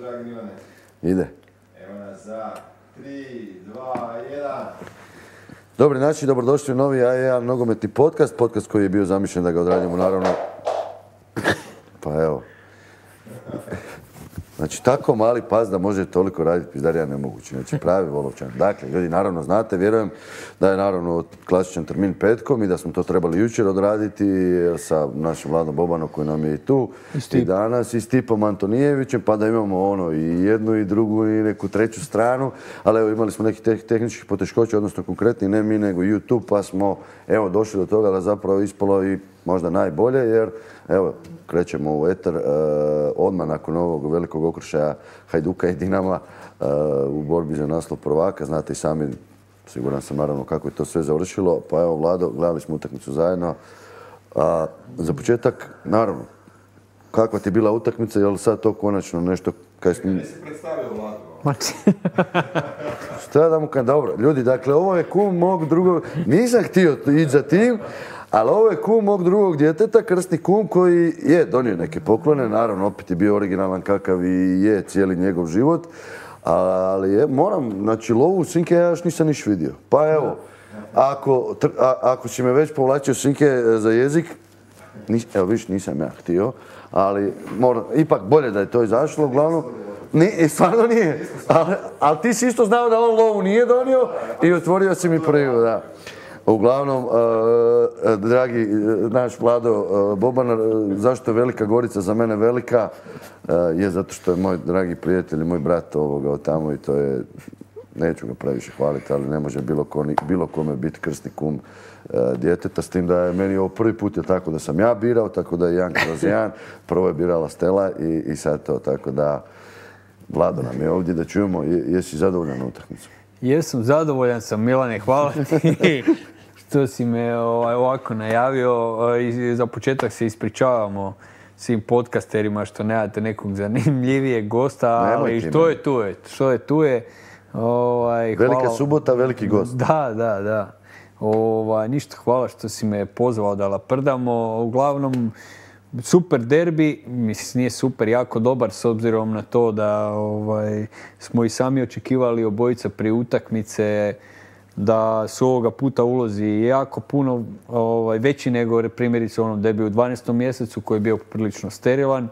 dragi Milane. Ide. Evo nas za 3, 2, 1. Dobri način, dobrodošli u novi A1 nogometni podcast. Podcast koji je bio zamišljen da ga odradimo naravno. Pa evo. Znači, tako mali pas da može toliko raditi pizdarija nemoguće. Znači, pravi Volovčan. Dakle, ljudi, naravno znate, vjerujem da je naravno klasičan termin petkom i da smo to trebali jučer odraditi sa našim Vladom Bobanom koji nam je i tu i danas i Stipom Antonijevićem, pa da imamo ono i jednu i drugu i neku treću stranu. Ali evo, imali smo nekih tehničkih poteškoća, odnosno konkretni ne mi nego YouTube, pa smo evo došli do toga da zapravo ispalo i možda najbolje, jer evo, krećemo u eter odmah nakon ovog velikog okršaja Hajduka i Dinama u borbi za naslov prvaka. Znate i sami, siguran sam naravno kako je to sve završilo. Pa evo, Vlado, gledali smo utakmicu zajedno. Za početak, naravno, kakva ti je bila utakmica, je li sad to konačno nešto kaj smo... Ne si predstavio Vladu. Šta da mu kažem, dobro. Ljudi, dakle, ovo je kum mog drugog... Nisam htio ići za tim, ali ovo je kum mog drugog djeteta, krsni kum koji je donio neke poklone, naravno opet je bio originalan kakav i je cijeli njegov život, ali je, moram, znači lovu sinke ja još nisam niš vidio. Pa evo, ako si me već povlačio sinke za jezik, evo viš nisam ja htio, ali ipak bolje da je to izašlo, uglavnom. Stvarno nije, ali ti si isto znao da on lovu nije donio i otvorio si mi prvu, da. Uglavnom, dragi naš Vlado Boban, zašto je Velika Gorica za mene velika? Je zato što je moj dragi prijatelj i moj brat od tamo i to je, neću ga previše hvaliti, ali ne može bilo kome biti krsni kum djeteta, s tim da je meni ovo prvi put je tako da sam ja birao, tako da je 1/1, prvo je birala Stela i sad to, tako da Vlado nam je ovdje da čujemo, jesi zadovoljan na utakmicu? Jesam, zadovoljan sam, Milane, hvala ti što si me ovako najavio. I za početak se ispričavamo svim podcasterima što nemate nekog zanimljivijeg gosta, ali što je tu je. Velika subota, veliki gost. Da. Ništa, hvala što si me pozvao da laprdamo. Uglavnom, super derbi, mislim nije super, jako dobar s obzirom na to da smo i sami očekivali obojica prije utakmice da su ovoga puta ulozi jako puno veći nego primjerice u onom derbiju u 12. mjesecu koji je bio prilično sterilan.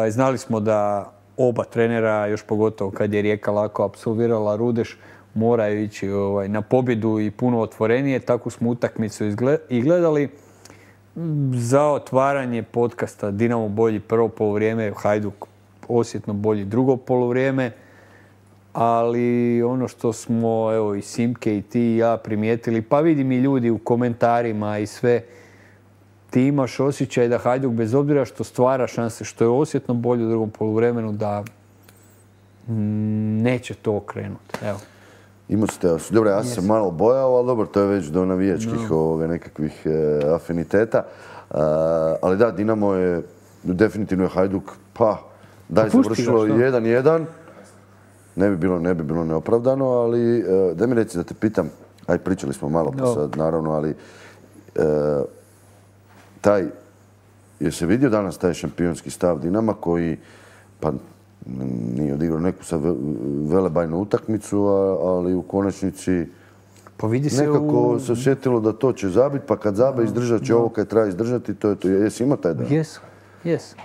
Znali smo da oba trenera, još pogotovo kad je Rijeka lako apsolvirala Rudeš, moraju ići na pobjedu i puno otvorenije. Takvu smo utakmicu i gledali. Za otvaranje podcasta Dinamo bolji prvo poluvrijeme, Hajduk osjetno bolji drugo poluvrijeme, ali ono što smo evo i Simke i ti i ja primijetili, pa vidim i ljudi u komentarima i sve, ti imaš osjećaj da Hajduk bez obzira što stvara šanse, što je osjetno bolji u drugom poluvremenu, da neće to okrenuti. Evo. Imao ste, dobro, ja sam se malo bojao, ali dobro, to je već do navijačkih nekakvih afiniteta. Ali da, Dinamo je, definitivno je Hajduk, da je završilo 1-1. Ne bi bilo neopravdano, ali da mi reci da te pitam, pričali smo malo pa sad, naravno, ali je se vidio danas taj šampionski stav Dinama koji, pa nije odigrao neku sad velebajnu utakmicu, ali u konačnici nekako se osjetilo da to će zabiti, pa kad zabe izdržat će ovo kad treba izdržati, to je to. Jesi imao taj dan? Jes.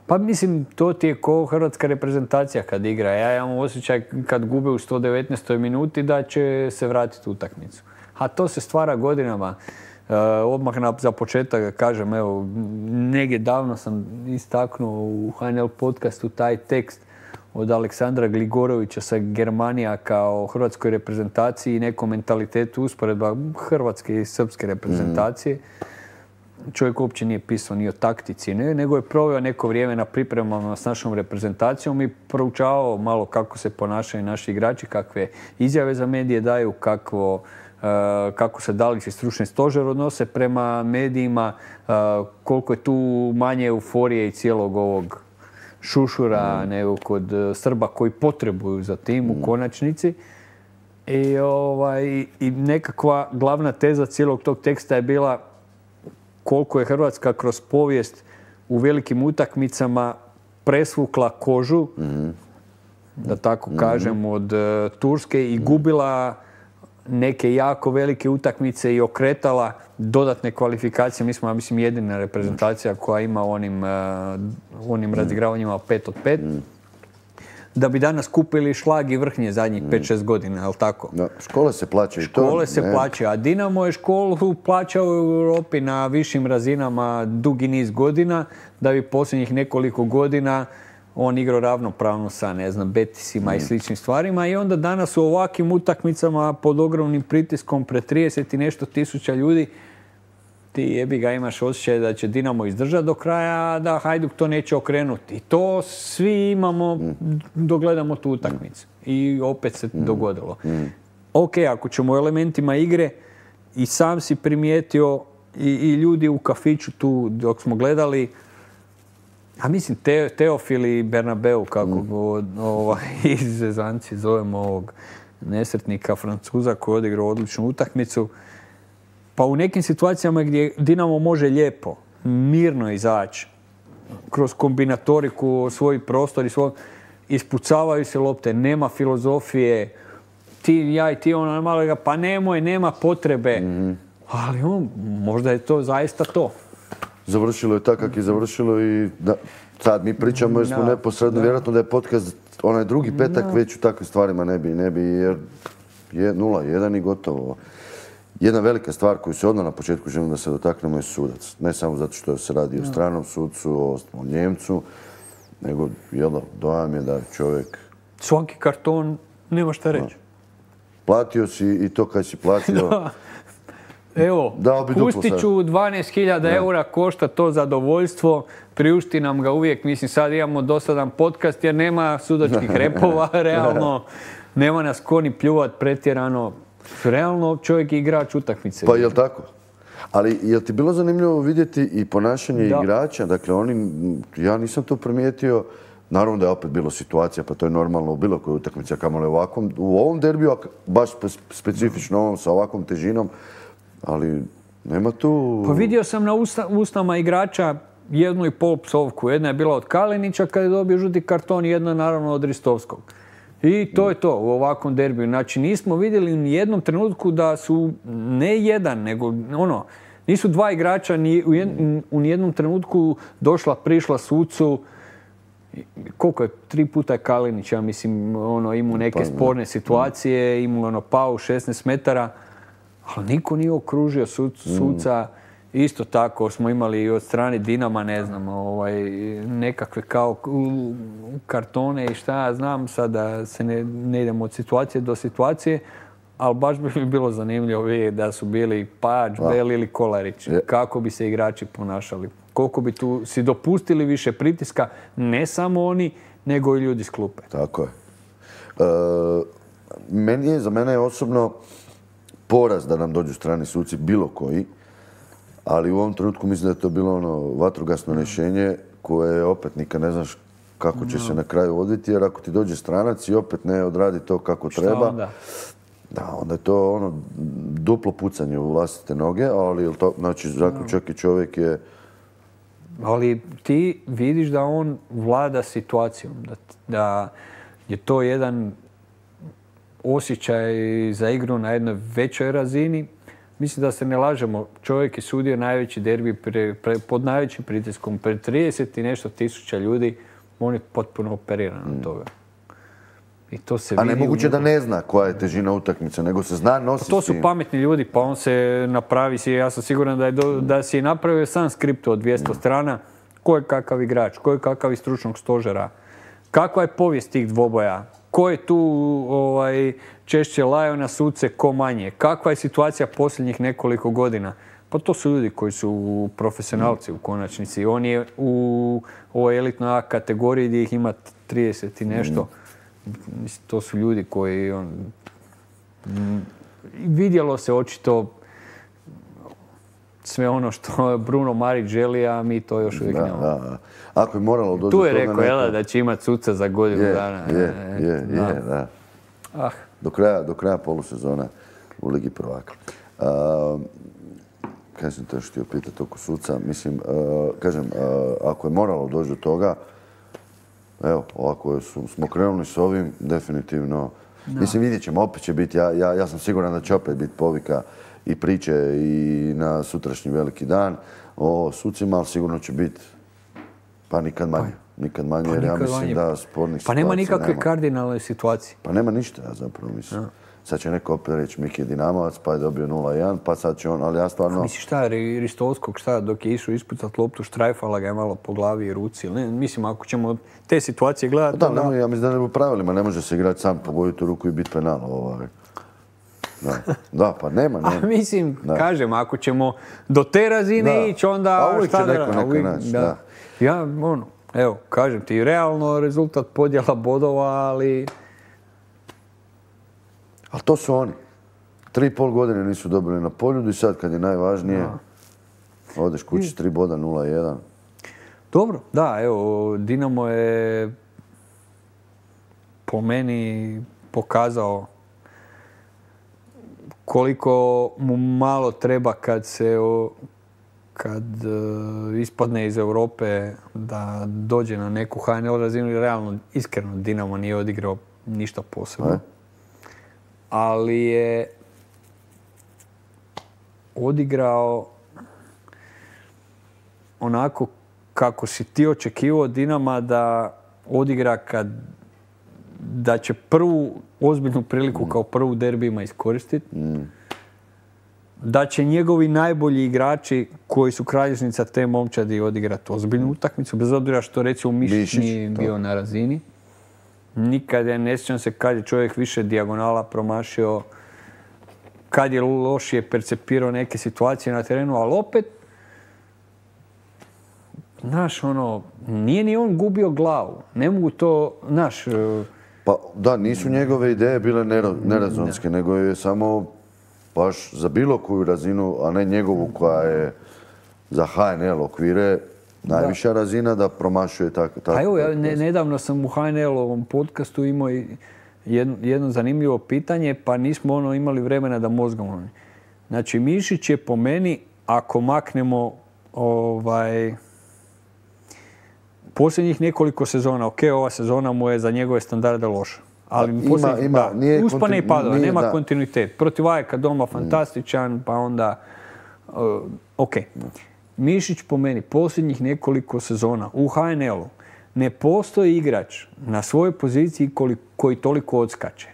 Pa mislim, to ti je ko hrvatska reprezentacija kad igra. Ja imam osjećaj kad gube u 119. minuti da će se vratiti u utakmicu. A to se stvara godinama. Odmah za početak kažem, evo, negdje davno sam istaknuo u HNL podcastu taj tekst od Aleksandra Gligorovića sa Germanijaka o hrvatskoj reprezentaciji i nekom mentalitetu usporedba hrvatske i srpske reprezentacije. Čovjek uopće nije pisao ni o taktici, nego je proveo neko vrijeme na pripremama s našom reprezentacijom i proučavao malo kako se ponašaju naši igrači, kakve izjave za medije daju, kako se Dalić i stručni stožer odnose prema medijima, koliko je tu manje euforije i cijelog ovog šušura nego kod Srba koji potrebuju za tim u konačnici. I nekakva glavna teza cijelog tog teksta je bila koliko je Hrvatska kroz povijest u velikim utakmicama presvukla kožu, da tako kažem, od Turske i gubila neke jako velike utakmice i okretala dodatne kvalifikacije. Mi smo, ja mislim, jedina reprezentacija koja ima u onim razigravanjima 5 od 5. Da bi danas kupili šlag i vrhnje zadnjih 5-6 godina, jel tako? Da, škole se plaćaju. Škole se plaćaju, a Dinamo je školu plaćao u Europi na višim razinama dugi niz godina, da bi posljednjih nekoliko godina on igrao ravnopravno sa, ne znam, Betisima i sličnim stvarima i onda danas u ovakvim utakmicama pod ogromnim pritiskom pred 30 i nešto tisuća ljudi ti jebi ga imaš osjećaj da će Dinamo izdržati do kraja, a da Hajduk to neće okrenuti. I to svi imamo dok gledamo tu utakmicu. I opet se dogodilo. Ok, ako ćemo u elementima igre, i sam si primijetio i ljudi u kafiću tu dok smo gledali, a mislim Teofil i Bernabeu, kako go izvezanci zovemo ovog nesretnika Francuza koji je odigrao odličnu utakmicu. Pa u nekim situacijama gdje Dinamo može lijepo, mirno izaći, kroz kombinatoriku, svoj prostor i ispucavaju se lopte, nema filozofije, ja i ti ono malo ga, pa nema potrebe. Ali možda je to zaista to. Završilo je tako kako je završilo i sad mi pričamo jer smo neposredno, vjerojatno da je podcast onaj drugi petak već u takvim stvarima ne bi jer je 0-1 i gotovo. Jedna velika stvar koju se odmah na početku želim da se dotaknemo je sudac. Ne samo zato što se radi o stranom sudcu, o Njemcu, nego dojam je da čovjek... Svaki karton nema šta reći. Platio si i to kad si platio... Evo, pustit ću 12.000 eura košta to zadovoljstvo, priušti nam ga uvijek, mislim sad imamo dosadan podcast jer nema sudačkih repova, realno, nema nas ko ni pljuvat pretjerano, realno čovjek je igrač utakmice. Pa jel tako? Ali jel ti bilo zanimljivo vidjeti i ponašanje igrača, dakle ja nisam to primijetio, naravno da je opet bilo situacija, pa to je normalno u bilo kojoj utakmici, a kamoli u ovom derbiju, baš specifično ovom sa ovakvom težinom, ali nema tu... Pa vidio sam na usnama igrača 1,5 psovku. Jedna je bila od Kalinića kad je dobio žuti karton i jedna naravno od Ristovskog. I to je to u ovakvom derbiju. Znači nismo vidjeli ni jednom trenutku da su ne jedan, nego nisu dva igrača u nijednom trenutku prišla sucu. Koliko je? 3 puta je Kalinić, ja mislim, imao neke sporne situacije, imao pau 16 metara. Ali niko nije okružio suca. Isto tako smo imali i od strane Dinama, ne znam, nekakve kao kartone i šta ja znam, sad da se ne idemo od situacije do situacije, ali baš bi mi bilo zanimljivo vidjeti da su bili Pađ, Bel ili Kolarić. Kako bi se igrači ponašali. Koliko bi tu si dopustili više pritiska, ne samo oni, nego i ljudi s klupe. Tako je. Za mene je osobno poraz da nam dođu strani suci, bilo koji, ali u ovom trenutku mislim da je to bilo vatrogasno rješenje koje opet nikad ne znaš kako će se na kraju odviti, jer ako ti dođe stranac i opet ne odradi to kako treba, onda je to duplo pucanje u vlastite noge, ali to znači zaključak i čovjek je... Ali ti vidiš da on vlada situacijom, da je to jedan osjećaj za igru na jednoj većoj razini. Mislim da se ne lažemo, čovjek je sudio najveći derbi pod najvećim pritiskom. Pred 30 i nešto tisuća ljudi, on je potpuno operiran od toga. I to se a nemoguće da ne zna koja je težina utakmice, nego se zna nositi s tim. To su pametni ljudi, pa on se napravi, ja sam siguran da si je napravio sam skript od 200 strana, ko je kakav igrač, ko je kakav iz stručnog stožera, kakva je povijest tih dvoboja, ko je tu češće lajao na suce, ko manje, kakva je situacija posljednjih nekoliko godina. Pa to su ljudi koji su profesionalci u konačnici. On je u ovoj elitnoj A kategoriji gdje ih ima 30 i nešto. To su ljudi koji... Vidjelo se očito sve ono što Bruno Marić želi, a mi to još uvijek nemamo. Da. Ako je moralo doći tu je rekao da će imati suca za godinu dana. Da. Do kraja polusezona u Ligi prvaka. Kaj sam te htio pitati oko suca? Mislim, kažem, ako je moralo doći do toga, evo, ovako smo krenuli s ovim, definitivno. Mislim, vidjet ćemo, opet će biti, ja sam siguran da će opet biti povika i priče i na sutrašnji veliki dan o sucima, ali sigurno će biti pa nikad manje. Nikad manje, jer ja mislim da spornih situacija nema. Pa nema nikakve kardinalne situacije. Pa nema ništa, ja zapravo mislim. Sad će neko opet reći Miki je Dinamovac, pa je dobio 0-1, pa sad će on, ali ja stvarno... Misliš šta, Ristovskog, šta, dok je išao ispucat loptu, štrajfala ga je malo po glavi i ruci. Ne, mislim, ako ćemo te situacije gledati... Da, ja mislim da ne u pravilima, ne može se igrati sam, pogoditi u ruku i biti penal. Da, pa nema. A mislim, kažem, ako ćemo do te razine ići, onda... A uvijek će neko naći, da. Ja, evo, kažem ti, realno rezultat podjela bodova, ali... Ali to su oni. 3,5 godine nisu dobili na Poljudu i sad kad je najvažnije, odeš kući 3 boda, 0-1. Dobro, da, evo, Dinamo je po meni pokazao koliko mu malo treba kad ispadne iz Europe da dođe na neku HNL razinu i realno, iskreno, Dinamo nije odigrao ništa posebno. Ali je odigrao onako kako si ti očekivao Dinama da odigra da će prvu ozbiljnu priliku kao prvu derbijima iskoristiti. Da će njegovi najbolji igrači koji su kralježnica te momčadi odigrati ozbiljnu utakmicu, bez obzira što recimo Mišić nije bio na razini. Nikad ne sjećam se kad je čovjek više dijagonala promašio, kad je lošije percepirao neke situacije na terenu, ali opet, znaš, nije ni on gubio glavu. Ne mogu to, znaš... Pa da, nisu njegove ideje bile nerazonske, nego je samo baš za bilo koju razinu, a ne njegovu koja je za HNL okvire, najviša razina da promašuje tako. A evo, nedavno sam u HNL-ovom podcastu imao jedno zanimljivo pitanje, pa nismo imali vremena da mozgamo. Znači, Mišić je po meni, ako maknemo posljednjih nekoliko sezona, ova sezona mu je za njegove standarde loša. Ali uspane i padove, nema kontinuitet. Protiv Ajeka doma fantastičan, pa onda ok. Mišić po meni posljednjih nekoliko sezona u HNL-u ne postoji igrač na svojoj poziciji koji toliko odskače.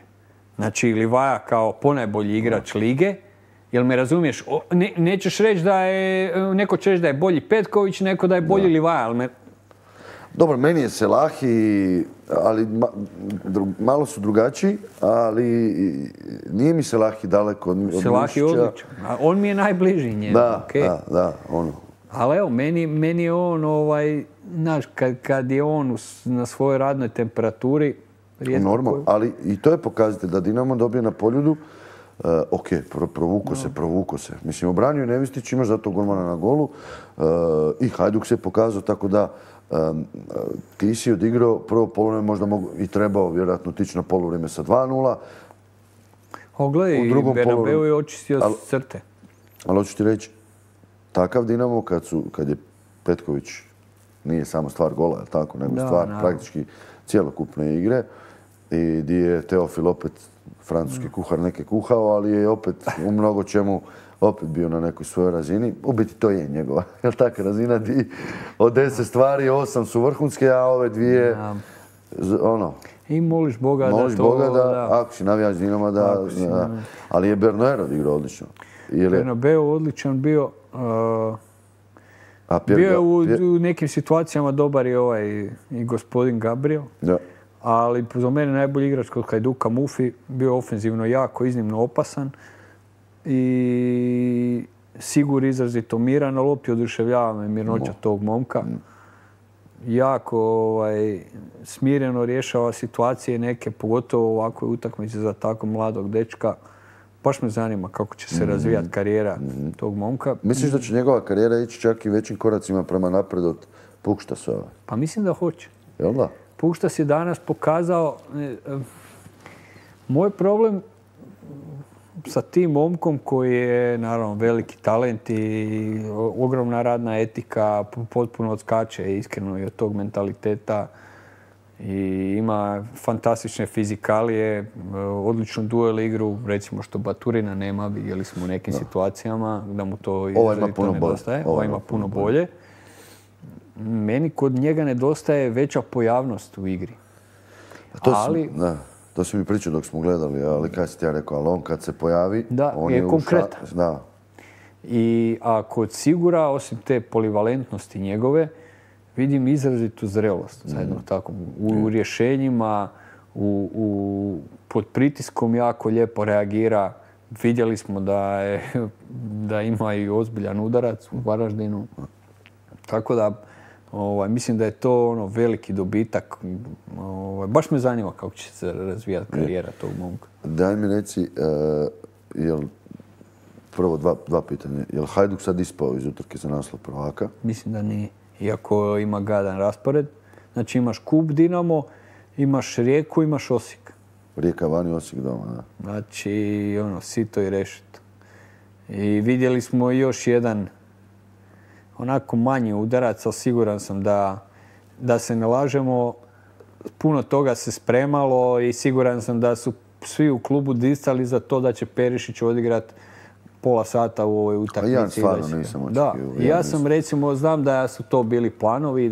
Znači, Livaja kao ponajbolji igrač lige, jel me razumiješ? Nećeš reći da je, neko će reći da je bolji Petković, neko da je bolji Livaja, ali Dobro, meni je Selahi, ali malo su drugačiji, ali nije mi Selahi daleko od Mišića. Selahi je odličan. On mi je najbliži njemu. Da, Ali evo, meni je on, znaš, kad je on na svojoj radnoj temperaturi... Normalno, ali i to je pokazatelj da Dinamo dobije na Poljudu. Ok, provuko se. Mislim, obranio je Nevistić, imaš zato golmana na golu i Hajduk se pokazao, tako da ti si odigrao prvo poluvreme, možda i trebao vjerojatno tići na poluvrijeme sa 2-0. Gledaj, i Bernabeu je očistio crte. Ali hoću ti reći, takav Dinamo kad je Petković nije samo stvar gola, tako, nego stvar praktički cjelokupne igre i gdje je Teofil opet francuski kuhar neke kuhao, ali je opet u mnogo čemu opet bio na nekoj svojoj razini. U biti to je njegova, jel taka razina di od 10 stvari 8 su vrhunske, a ove dvije I moliš Boga da ako si navijač Dinama ali je Bernabeu odigrao odlično. Bernabeu odličan bio. Bio je u nekim situacijama dobar i gospodin Gabriel. Ali za mene najbolji igrač kod Hajduka Mufi, bio ofenzivno jako, iznimno opasan i Sigur izrazito miran na lopti, oduševljava me mirnoća tog momka. Jako smireno rješava situacije neke, pogotovo u ovakvoj utakmici za tako mladog dečka. Baš me zanima kako će se razvijati karijera tog momka. Misliš da će njegova karijera ići čak i većim koracima prema napred od Puštasova? Pa mislim da hoće. Jel da? Puštas je danas pokazao... Moj problem sa tim momkom koji je, naravno, veliki talent i ogromna radna etika, potpuno odskače iskreno i od tog mentaliteta i ima fantastične fizikalije, odličnu duel igru, recimo što Baturina nema, vidjeli smo u nekim situacijama da mu to izrazito nedostaje. Ovaj ima puno bolje. Meni kod njega nedostaje veća pojavnost u igri. To si mi pričao dok smo gledali, ali kaj si ti ja rekao, ali on kad se pojavi, on je konkretan. Da. A kod Sigura, osim te polivalentnosti njegove, vidim izrazitu zrelost zajedno tako. U rješenjima, pod pritiskom jako lijepo reagira. Vidjeli smo da ima i ozbiljan udarac u Varaždinu. Tako da, mislim da je to veliki dobitak. Baš me zanima kako će se razvijati karijera tog momka. Daj mi reci, prvo dva pitanja. Je li Hajduk sad ispao iz utrke za naslov prvaka? Mislim da nije. Iako ima gadan raspored. Znači imaš Kup Dinamo, imaš Rijeku, imaš Osijek. Rijeka vani, Osijek doma, da. Znači, sito i rešeto. I vidjeli smo još jedan onako manji udarac, ali siguran sam da se ne lažemo. Puno toga se spremalo i siguran sam da su svi u klubu distali za to da će Perišić odigrati pola sata u ovoj utakmici. Ja stvarno nisam očekivao. Da, ja sam recimo, znam da su to bili planovi,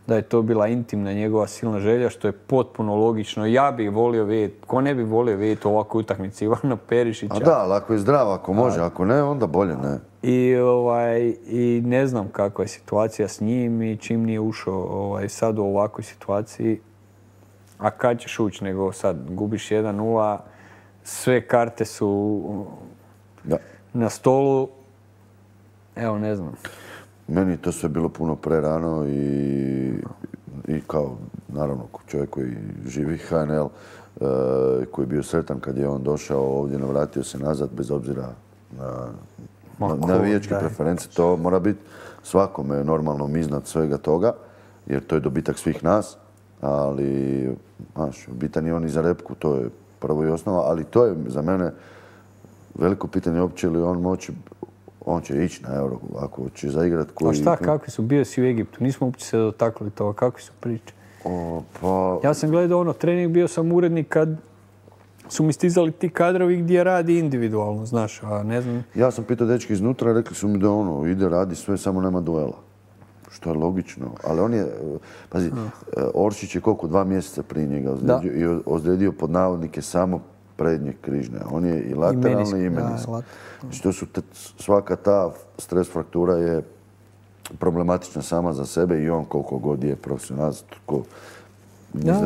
da je to bila intimna njegova silna želja, što je potpuno logično. Ja bih volio vidjeti, ko ne bi volio vidjeti ovakvu utakmicu Ivana Perišića. A da, ali ako je zdrav, ako može, ako ne, onda bolje ne. I ne znam kakva je situacija s njim i čim nije ušao sad u ovakvoj situaciji. A kad ćeš ući, nego sad gubiš 1-0, sve karte su na stolu, evo ne znam. Meni je to sve bilo puno prerano i kao, naravno, čovjek koji živi HNL, koji je bio sretan kad je on došao ovdje, navratio se nazad bez obzira na navijačke preference. To mora biti svakome normalno iznad svega toga, jer to je dobitak svih nas, ali, bitan je on i za repku, to je prvo i osnova, ali to je za mene veliko pitanje uopće li on će ići na Euro, ako će zaigrat koji... A šta, kakvi su? Bio si u Egiptu, nismo uopće se dotakli toga, kakvi su priče? Ja sam gledao trening, bio sam urednik kad su mi stizali ti kadrovi gdje radi individualno, znaš, a ne znam... Ja sam pitao dečki iznutra, rekli su mi da ide, radi sve, samo nema duela. Što je logično, ali on je, pazi, Oršić je koliko, 2 mjeseca prije njega ozlijedio pod navodnike samo prednje križne. On je i lateralni i meniski. Znači, svaka ta stres fraktura je problematična sama za sebe i on koliko god je profesionalac.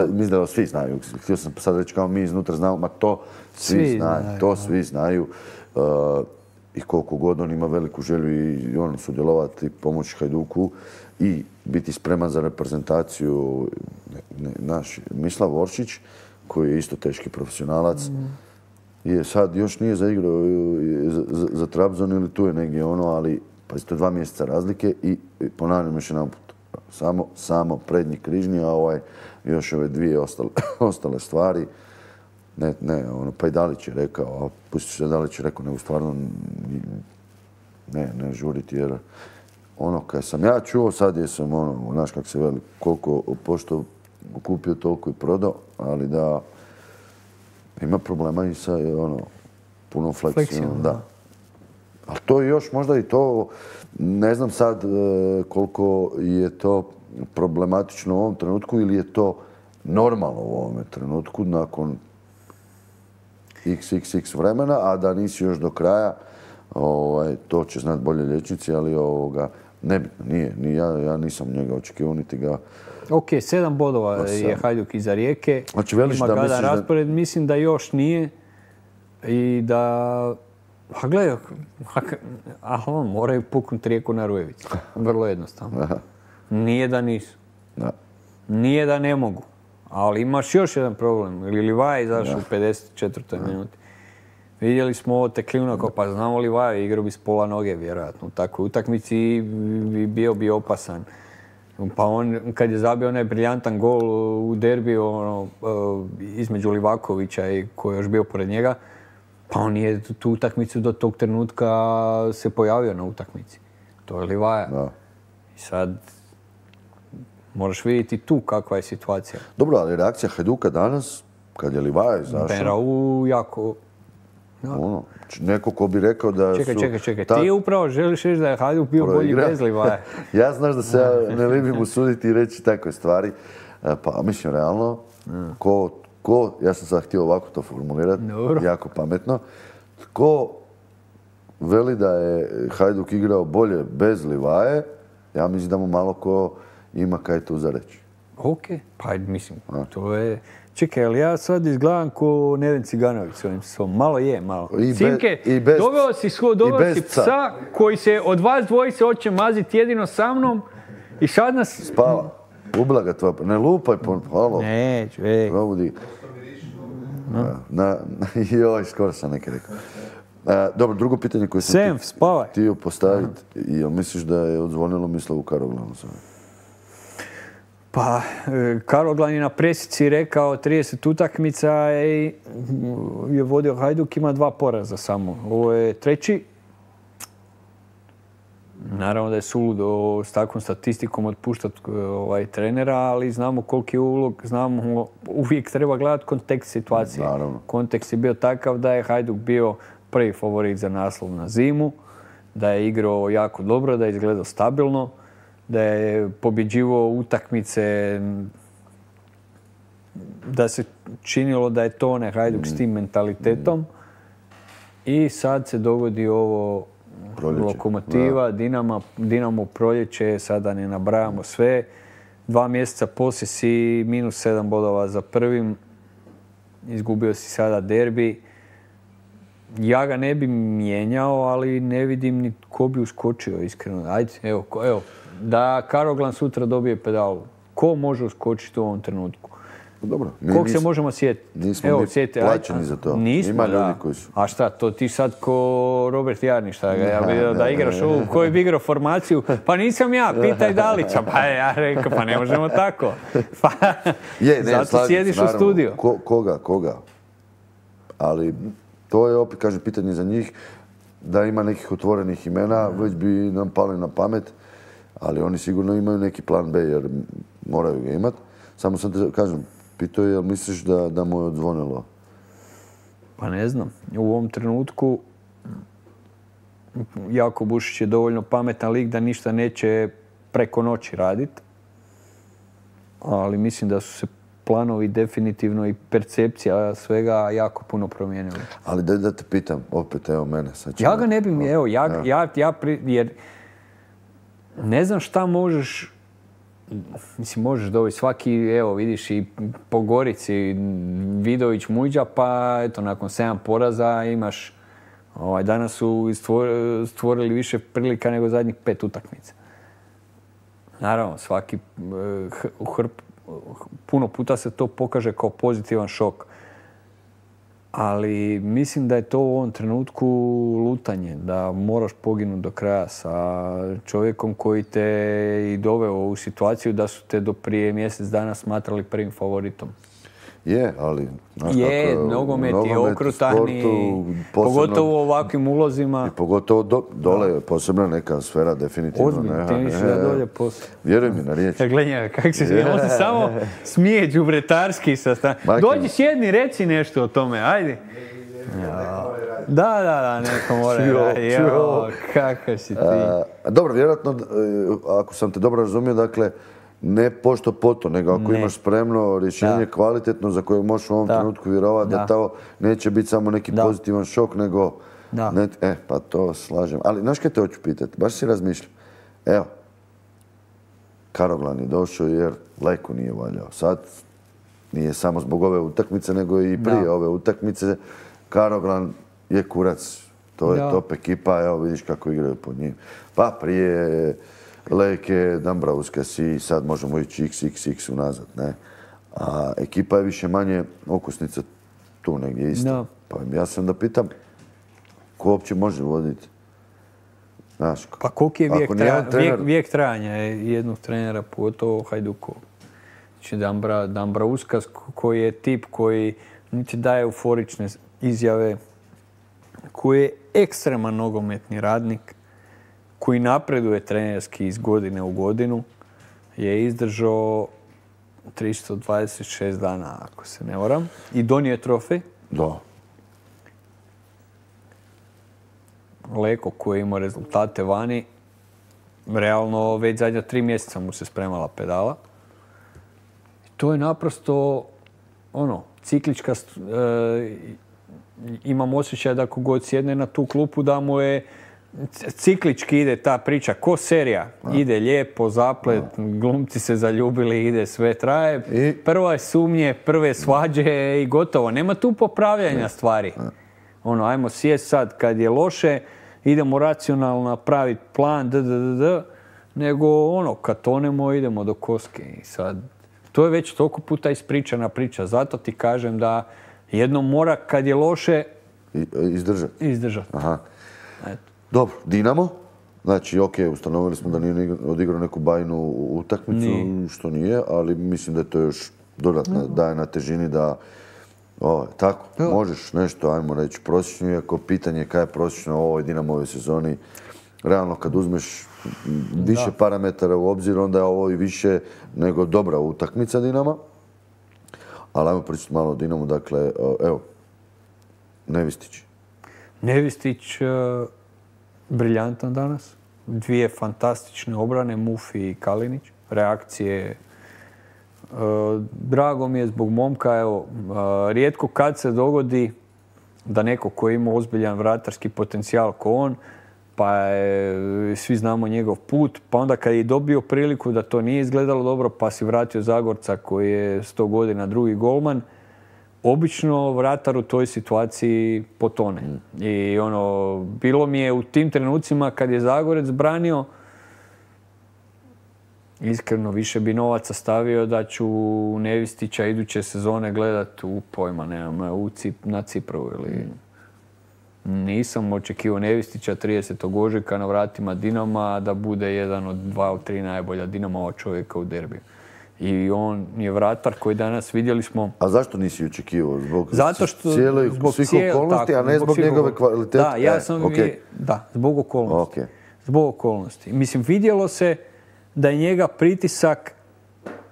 Mislim da svi znaju. Htio sam sad reći kao mi iznutra znamo, ma to svi znaju. To svi znaju. I koliko god on ima veliku želju i on sudjelovati, pomoći Hajduku i biti spreman za reprezentaciju. Naš Mislav Oršić, koji je isto teški profesionalac, je sad još nije zaigrao za Trabzon ili tu je negdje ali to je 2 mjeseca razlike i ponavljam još jedan put. Samo prednji križni, a još ove 2 ostale stvari. Pa i Dalić je rekao, a pusti se Dalić je rekao, nego stvarno ne žuriti jer kad sam ja čuo, sad jesam znaš kak se veli, koliko pošto kupio toliko i prodao, ali da ima problema i sa punom fleksijom. Da. Ali to je još možda i to, ne znam sad koliko je to problematično u ovom trenutku ili je to normalno u ovome trenutku nakon xxx vremena, a da nisi još do kraja, to će znati bolje liječnici, ali nebitno, nije. Ja nisam njega očekivao, niti ga... Ok, 7 bodova je Hajduk iza Rijeke, ima gadan raspored, mislim da još nije i da... A gledaj, moraju puknuti Rijeku na Rujevici, vrlo jednostavno. Nije da nisu, nije da ne mogu. Ali imaš još jedan problem. Livaja izašao u 54. minuti. Vidjeli smo ovo Teklina, pa znamo Livaja, igrao bi s pola noge vjerojatno. U takvoj utakmici bio bi opasan. Pa on, kad je zabio onaj briljantan gol u derbiju između Livakovića i koji je još bio pored njega, pa on nije tu utakmicu do tog trenutka se pojavio na utakmici. To je Livaja. I sad Moraš vidjeti tu kakva je situacija. Dobro, ali reakcija Hajduka danas, kad je Livaja izašao... Berau jako... Ono, neko ko bi rekao da su... Čekaj. Ti upravo želiš reći da je Hajduk bio bolji bez Livaja. Ja znaš da se ja ne libim usuditi i reći takve stvari. Pa mislim, realno, ja sam sad htio ovako to formulirati, jako pametno. Tko veli da je Hajduk igrao bolje bez Livaje, ja mislim da mu malo ko ima kaj tu za reći. Ok, pa mislim, to je... Čekaj, ali ja sad izgledam ko Neven Ciganović s ovim svom. Malo je, malo. Simke, doveo si psa koji se od vas dvojice hoće maziti jedino sa mnom i sad nas... Spava. Ublaga tvoja, ne lupaj po... Halo. Neću, ej. Probudi. Joj, skoro sam nekaj rekao. Dobro, drugo pitanje koje sam htio postaviti. Jel misliš da je odzvonilo Mislavu Karoglanu sada? Pa, Karoglan je na presici rekao 30 utakmica i je vodio Hajduk, ima 2 poraza samo. Ovo je 3. Naravno da je suludo s takvom statistikom otpuštati trenera, ali znamo koliki je ulog, znamo uvijek treba gledati kontekst situacije. Naravno. Kontekst je bio takav da je Hajduk bio prvi favorit za naslov na zimu, da je igrao jako dobro, da je izgledao stabilno, da je pobjeđivao utakmice, da se činilo da je to onaj Hajduk s tim mentalitetom. I sad se dogodi ovo proljeće. Lokomotiva, Dinamo proljeće, sada ne nabrajamo sve. 2 mjeseca poslije si -7 bodova za prvim, izgubio si sada derbi. Ja ga ne bi mijenjao, ali ne vidim ni ko bi uskočio, iskreno. Ajde, evo. Da Karoglan sutra dobije pedalu. Ko može uskočiti u ovom trenutku? Dobro. Kog se možemo sjetiti? Nismo plaćeni za to. Nismo, ima ljudi koji su. A šta, to ti sad ko Robert Jarni, šta ga ja vidio da igraš ovu, koji bi igrao formaciju? Pa nisam ja, pitaj Dalića. Pa ja rekao, pa ne možemo tako. Zato sjediš u studiju. Koga? Ali to je opet, kažem, pitanje za njih. Da ima nekih otvorenih imena, već bi nam pali na pamet. Ali oni sigurno imaju neki plan B, jer moraju ga imati. Samo sam te, kažem, pitao je, jel misliš da mu je odzvonilo? Pa ne znam. U ovom trenutku Jako Bušić je dovoljno pametan lik da ništa neće preko noći raditi. Ali mislim da su se planovi definitivno i percepcija svega jako puno promijenili. Ali da te pitam, opet, evo mene. Ja ga ne bi, jer ne znam šta možeš, mislim, možeš dobiti svaki, evo vidiš i po Gorici, Vidović, Muđa, pa eto, nakon 7 poraza imaš, danas su stvorili više prilika nego zadnjih 5 utakmica. Naravno, svaki puno puta se to pokaže kao pozitivan šok. Ali mislim da je to u ovom trenutku lutanje, da moraš poginuti do kraja sa čovjekom koji te i doveo u situaciju da su te do prije mjesec dana smatrali prvim favoritom. Je, ali... Nogomet je okrutan i pogotovo u ovakvim ulozima. I pogotovo dole je posebna neka sfera, definitivno. Ozbiljno, ti misliš da dolje posebno. Vjeruj mi na riječ. Gledaj njega, kako se smije, on se samo smije đubretarski sa strane. Dođi sjedni, reci nešto o tome, ajde. Da, neko mora raditi. Kakav si ti. Dobro, vjerojatno, ako sam te dobro razumio, dakle, ne pošto poto, nego ako imaš spremno rješenje kvalitetno za koje možeš u ovom trenutku vjerovati da to neće biti samo neki pozitivan šok, nego... pa to slažem. Ali, znaš kaj te hoću pitati? Baš si razmišljam. Evo, Karoglan je došao jer Leko nije valjao. Sad nije samo zbog ove utakmice, nego i prije ove utakmice. Karoglan je kurac. To je top ekipa, evo vidiš kako igraju pod njim. Pa prije... Leke, Dambrauska si, sad možemo ići XXX unazad, ne? A ekipa je više manje okusnica tu negdje isto. Pa ja sam da pitam, ko uopće može voditi? Znaš, pa koliki je vijek trajanja jednog trenera, pogotovo Hajdukovog? Znači Dambrauskas koji je tip koji niti daje euforične izjave, koji je ekstreman nogometni radnik, koji napreduje trenerski iz godine u godinu. je izdržao 326 dana, ako se ne varam, i donio je trofej. Da. Leko koji je imao rezultate vani, realno već zadnja 3 mjeseca mu se spremala pedala. I to je naprosto ciklička, imam osjećaj da kogod sjedne na tu klupu da mu je ciklički ide ta priča, ko serija. Ide lijepo, zaplet, glumci se zaljubili, ide, sve traje. Prva sumnje, prve svađe i gotovo. Nema tu popravljanja stvari. Ajmo sjest sad kad je loše, idemo racionalno napraviti plan, nego kad tonemo idemo do koske. I sad, to je već toliko puta ispričana priča. Zato ti kažem da jednom mora kad je loše izdržati. Aha. Dobro, Dinamo. Znači, ustanovili smo da nije odigrao neku bajnu utakmicu, što nije, ali mislim da je to još dodatno daje na težini da tako, možeš nešto, ajmo reći, prosječno, iako pitanje je kaj je prosječno u ovoj Dinamove sezoni. Realno, kad uzmeš više parametara u obzir, onda je ovo i više nego dobra utakmica Dinama. Ali ajmo pričati malo o Dinamu, dakle, evo, Nevistić. Nevistić, briljantan danas. 2 fantastične obrane, Mufi i Kalinić. Reakcije. Drago mi je zbog momka, evo, rijetko kad se dogodi da neko koji ima ozbiljan vratarski potencijal ko on, pa svi znamo njegov put, pa onda kad je dobio priliku da to nije izgledalo dobro, pa si vratio Zagorca koji je 100 godina drugi golman, obično vratar u toj situaciji potone. I bilo mi je u tim trenucima kad je Zagorec branio, iskreno više bi novaca stavio da ću Nevistića iduće sezone gledat na Cipru ili... Nisam očekivao Nevistića 30. ožujka na vratima Dinama da bude jedan od 2 od 3 najbolja Dinamova čovjeka u derbiju. I on je vratar koji danas vidjeli smo... A zašto nisi očekivao? Zbog svih svih okolnosti, a ne zbog njegove kvalitete? Da, ja sam... zbog okolnosti. Zbog okolnosti. Mislim, vidjelo se da je njega pritisak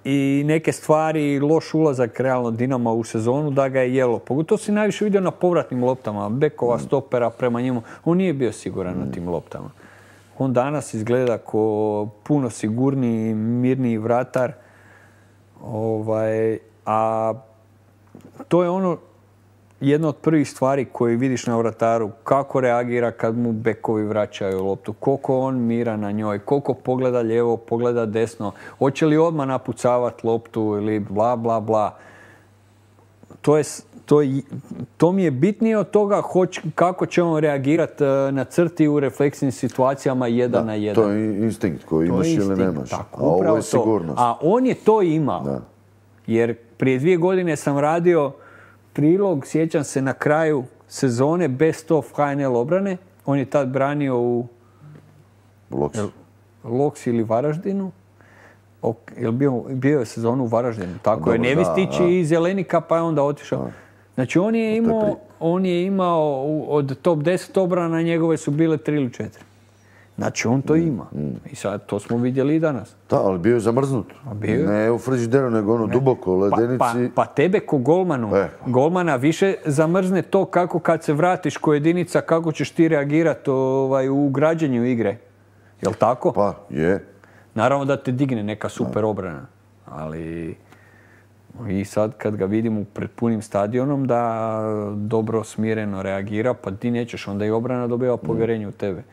i neke stvari, loš ulazak realno Dinama u sezonu, da ga je jelo. Pogotovo si najviše vidio na povratnim loptama, bekova, stopera prema njemu. On nije bio siguran na tim loptama. On danas izgleda kao puno sigurniji, mirniji vratar. A to je jedna od prvih stvari koje vidiš na vrataru, kako reagira kad mu bekovi vraćaju loptu, koliko on mira na njoj, koliko pogleda lijevo, pogleda desno, hoće li odmah napucavati loptu ili bla, bla, bla. To mi je bitnije od toga kako će on reagirati na crti u refleksnim situacijama 1 na 1. To je instinkt koji imaš ili nemaš. Tako, a ovo je sigurnost. A on je to imao. Da. Jer prije 2 godine sam radio prilog, sjećam se, na kraju sezone Best of HNL obrane. On je tad branio u Loks ili Varaždinu. Bio je sezonu u Varaždinu. Tako je, Nevistić i Zelenika, pa je onda otišao. Znači, on je imao od top 10 obrana, njegove su bile 3 ili 4. Znači, on to ima. I sad, to smo vidjeli i danas. Da, ali bio je zamrznut. Ne u frižideru, nego duboko u ledenici. Pa tebe ko golmana više zamrzne to kako kad se vratiš ko jedinica, kako ćeš ti reagirati u građenju igre. Jel' tako? Pa, je. Naravno da te digne neka super obrana. Ali... I sad kad ga vidimo pred punim stadionom da dobro, smireno reagira, pa ti nećeš, onda i obrana dobiva povjerenje u tebe.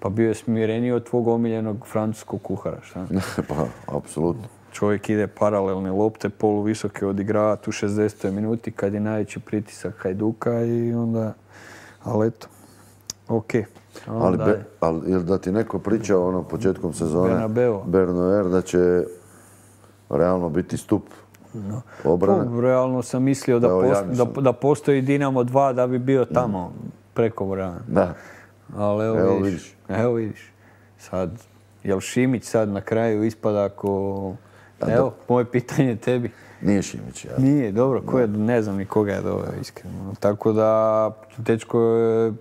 Pa bio je smireniji od tvog omiljenog francuskog kuhara, šta? Pa, apsolutno. Čovjek ide paralelne lopte, poluvisoke odigrava tu 60. minuti kad je najveći pritisak Hajduka i onda... Ali eto, okej. Ali da ti neko pričao početkom sezone Bernauer da će realno biti stup obrane? Realno sam mislio da postoji Dinamo 2 da bi bio tamo preko Vrana. Da. Ali evo vidiš. Sad, jel Šimić sad na kraju ispada ako... Evo, moje pitanje tebi. Nije Šimić, ja. Nije, dobro, ne znam ni koga je doveo, iskreno. Tako da, dečko je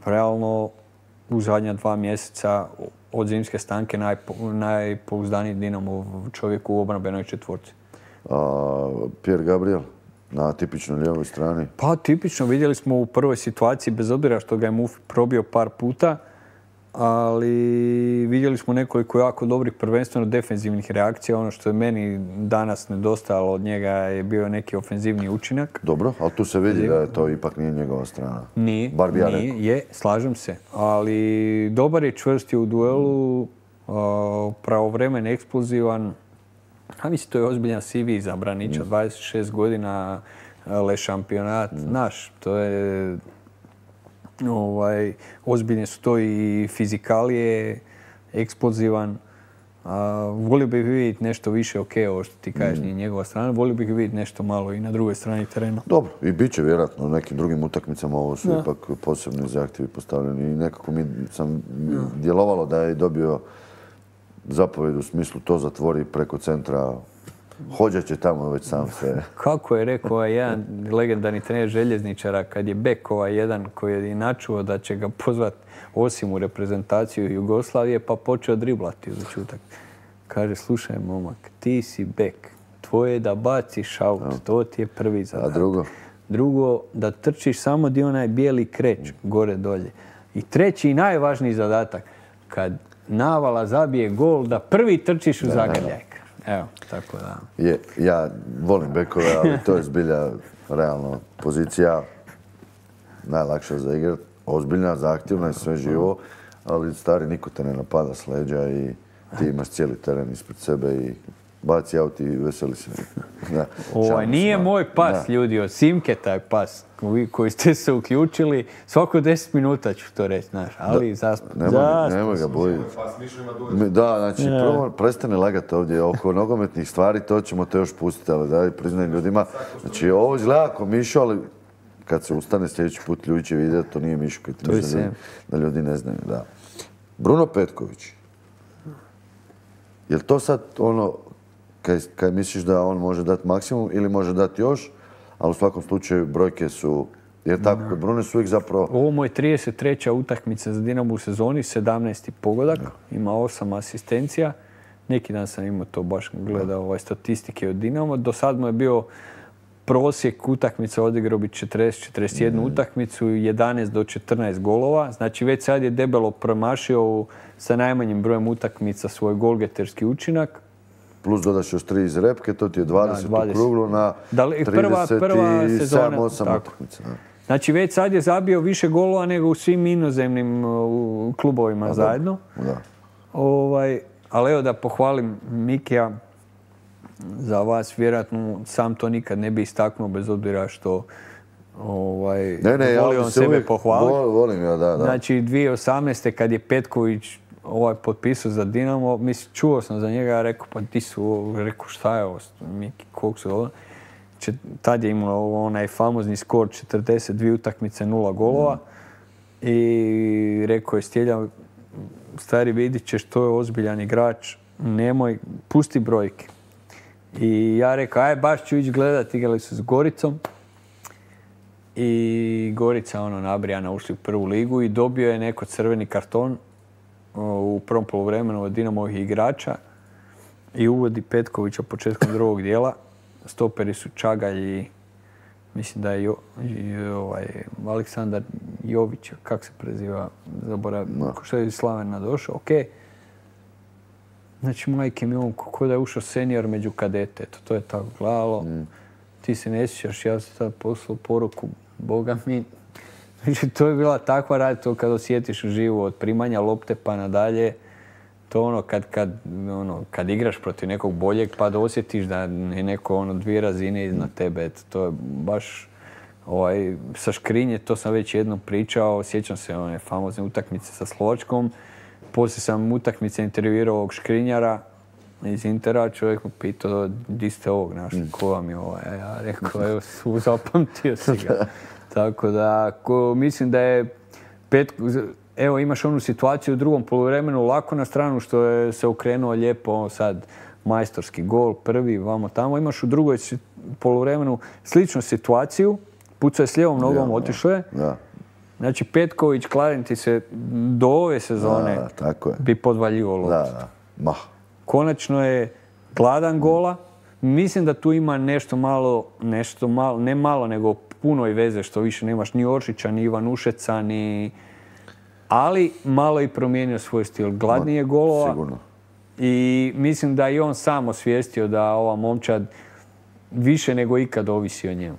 realno u zadnja 2 mjeseca od zimske stanke najpouzdaniji Dinamov čovjek u obrambenoj četvorci. Pierre Gabriel na tipičnoj lijevoj strani. Pa tipično, vidjeli smo u prvoj situaciji, bez obzira što ga je Mufi probio par puta, ali vidjeli smo nekoliko jako dobrih, prvenstveno defenzivnih reakcija. Ono što je meni danas nedostajalo od njega je bio neki ofenzivni učinak. Dobro, ali tu se vidi da je to ipak nije njegova strana. Nije, slažem se. Ali dobar je, čvrst je u duelu, pravovremen, eksplozivan. A mislim, to je ozbiljan CV za Branića, 26 godina, Le šampionat, naš. To je... ozbiljne su to i fizikalije, eksplozivan. Volio bih vidjeti nešto više, ovo što ti kažeš, nije njegova strana, volio bih vidjeti nešto malo i na drugoj strani terena. Dobro, i bit će vjerojatno u nekim drugim utakmicama, ovo su ipak posebni zahtjevi postavljeni i nekako mi sam djelovalo da je dobio zapovjed u smislu to zatvori preko centra. Hođa će tamo već sam se... Kako je rekao jedan legendarni trener željezničara kad je bek jedan koji je načuo da će ga pozvat osim u reprezentaciju Jugoslavije pa počeo driblati u začutak. Kaže, slušaj momak, ti si bek, tvoje je da baciš aut, to ti je prvi zadatak. A drugo? Drugo, da trčiš samo di onaj bijeli kreć gore dolje. I treći i najvažniji zadatak, kad navala zabije gol, da prvi trčiš u zagrljaj. Evo, tako da. Ja volim bekove, ali to je zbilja realno pozicija najlakša za igrat. Ozbiljna, zahtjevna i sve živo, ali stari niko te ne napada s leđa i ti imaš cijeli teren ispred sebe i baci aut i veseli se. Nije moj pas, ljudi, od Simke taj pas koji ste se uključili. Svako 10 minuta ću to reći, znaš, ali nemoj ga bojiti. Da, znači, prvo prestane lagati ovdje oko nogometnih stvari, to ćemo te još pustiti, ali daj, priznaj ljudima. Znači, ovo izgleda ako Mišo, ali kad se ustane sljedeći put ljudi će vidjeti, to nije Mišo, da ljudi ne znaju, da. Bruno Petković. Je li to sad ono, kad misliš da on može dati maksimum ili može dati još, ali u svakom slučaju brojke su, jer tako, kod Brune su uvijek zapravo... Ovo mu je 33. utakmica za Dinamo u sezoni, 17. pogodak, ima 8 asistencija. Neki dan sam imao to baš gledao statistike od Dinamo. Do sad mu je bio prosjek utakmica, odigrao bi 40-41 utakmicu, 11 do 14 golova. Znači već sad je debelo promašio sa najmanjim brojem utakmica svoj golgeterski učinak. Plus dodaš još 3 iz repke, to ti je 20 u kruglu na 37-8 utakmica. Znači već sad je zabio više golova nego u svim inozemnim klubovima zajedno. Ali evo da pohvalim Mikija, za vas vjerojatno sam to nikad ne bi istaknuo bez obzira što volio on sebe pohvaliti. Volim ja, da. Znači 2018. kad je Petković potpisao za Dinamo, mislim, čuo sam za njega, rekao, pa ti su, rekao, šta je ovo, Miki, koliko su ovo? Tad je imao onaj famozni skor 42 utakmice, 0 golova i rekao je Stjelja, stari, vidit ćeš, to je ozbiljan igrač, nemoj, pusti brojke. I ja rekao, aj, baš ću ići gledat, igrali su s Goricom i Gorica, nabrijana, ušli u prvu ligu i dobio je neko crveni karton u prvom poluvremenu od Dinamovih igrača i uvodi Petkovića početkom drugog dijela. Stoperi su Čagalj i mislim da je Aleksandar Jović, kako se preziva, zaboravim, što je iz Slavena došao, okej. Znači, majke mi on, kako da je ušao senior među kadete, to je tako gledalo. Ti se ne sjećaš, ja sam sad poslao poruku, Boga mi. Znači, to je bila takva rad, to kad osjetiš uživo od primanja lopte pa nadalje, to kad igraš protiv nekog boljeg pa da osjetiš da je neko 2 razine iznad tebe, to je baš sa Škrinje, to sam već jednom pričao, sjećam se one famozne utakmice sa Slovačkom, poslije sam utakmice intervjuirao ovog Škrinjara iz Intera, čovjek mu pitao, di ste ovog našli, ko vam je ovo? Ja rekao, evo, zapamtio si ga. Tako da, mislim da je evo, imaš onu situaciju u drugom poluvremenu lako na stranu što je se okrenuo lijepo sad majstorski gol, prvi, vamo tamo. Imaš u drugoj poluvremenu sličnu situaciju, pucao je s lijevom nogom, otišao je. Znači, Petković, kladim ti se, do ove sezone tako je. bi podvaljivao loptu. Da. Konačno je gladan gola. Mislim da tu ima nešto malo, ne malo, nego puno i veze što više nemaš ni Oršića, ni Ivanušeca, ni... Ali malo i promijenio svoj stil. Gladnije golova. Sigurno. I mislim da i on sam osvijestio da ova momčad više nego ikad ovisi o njemu.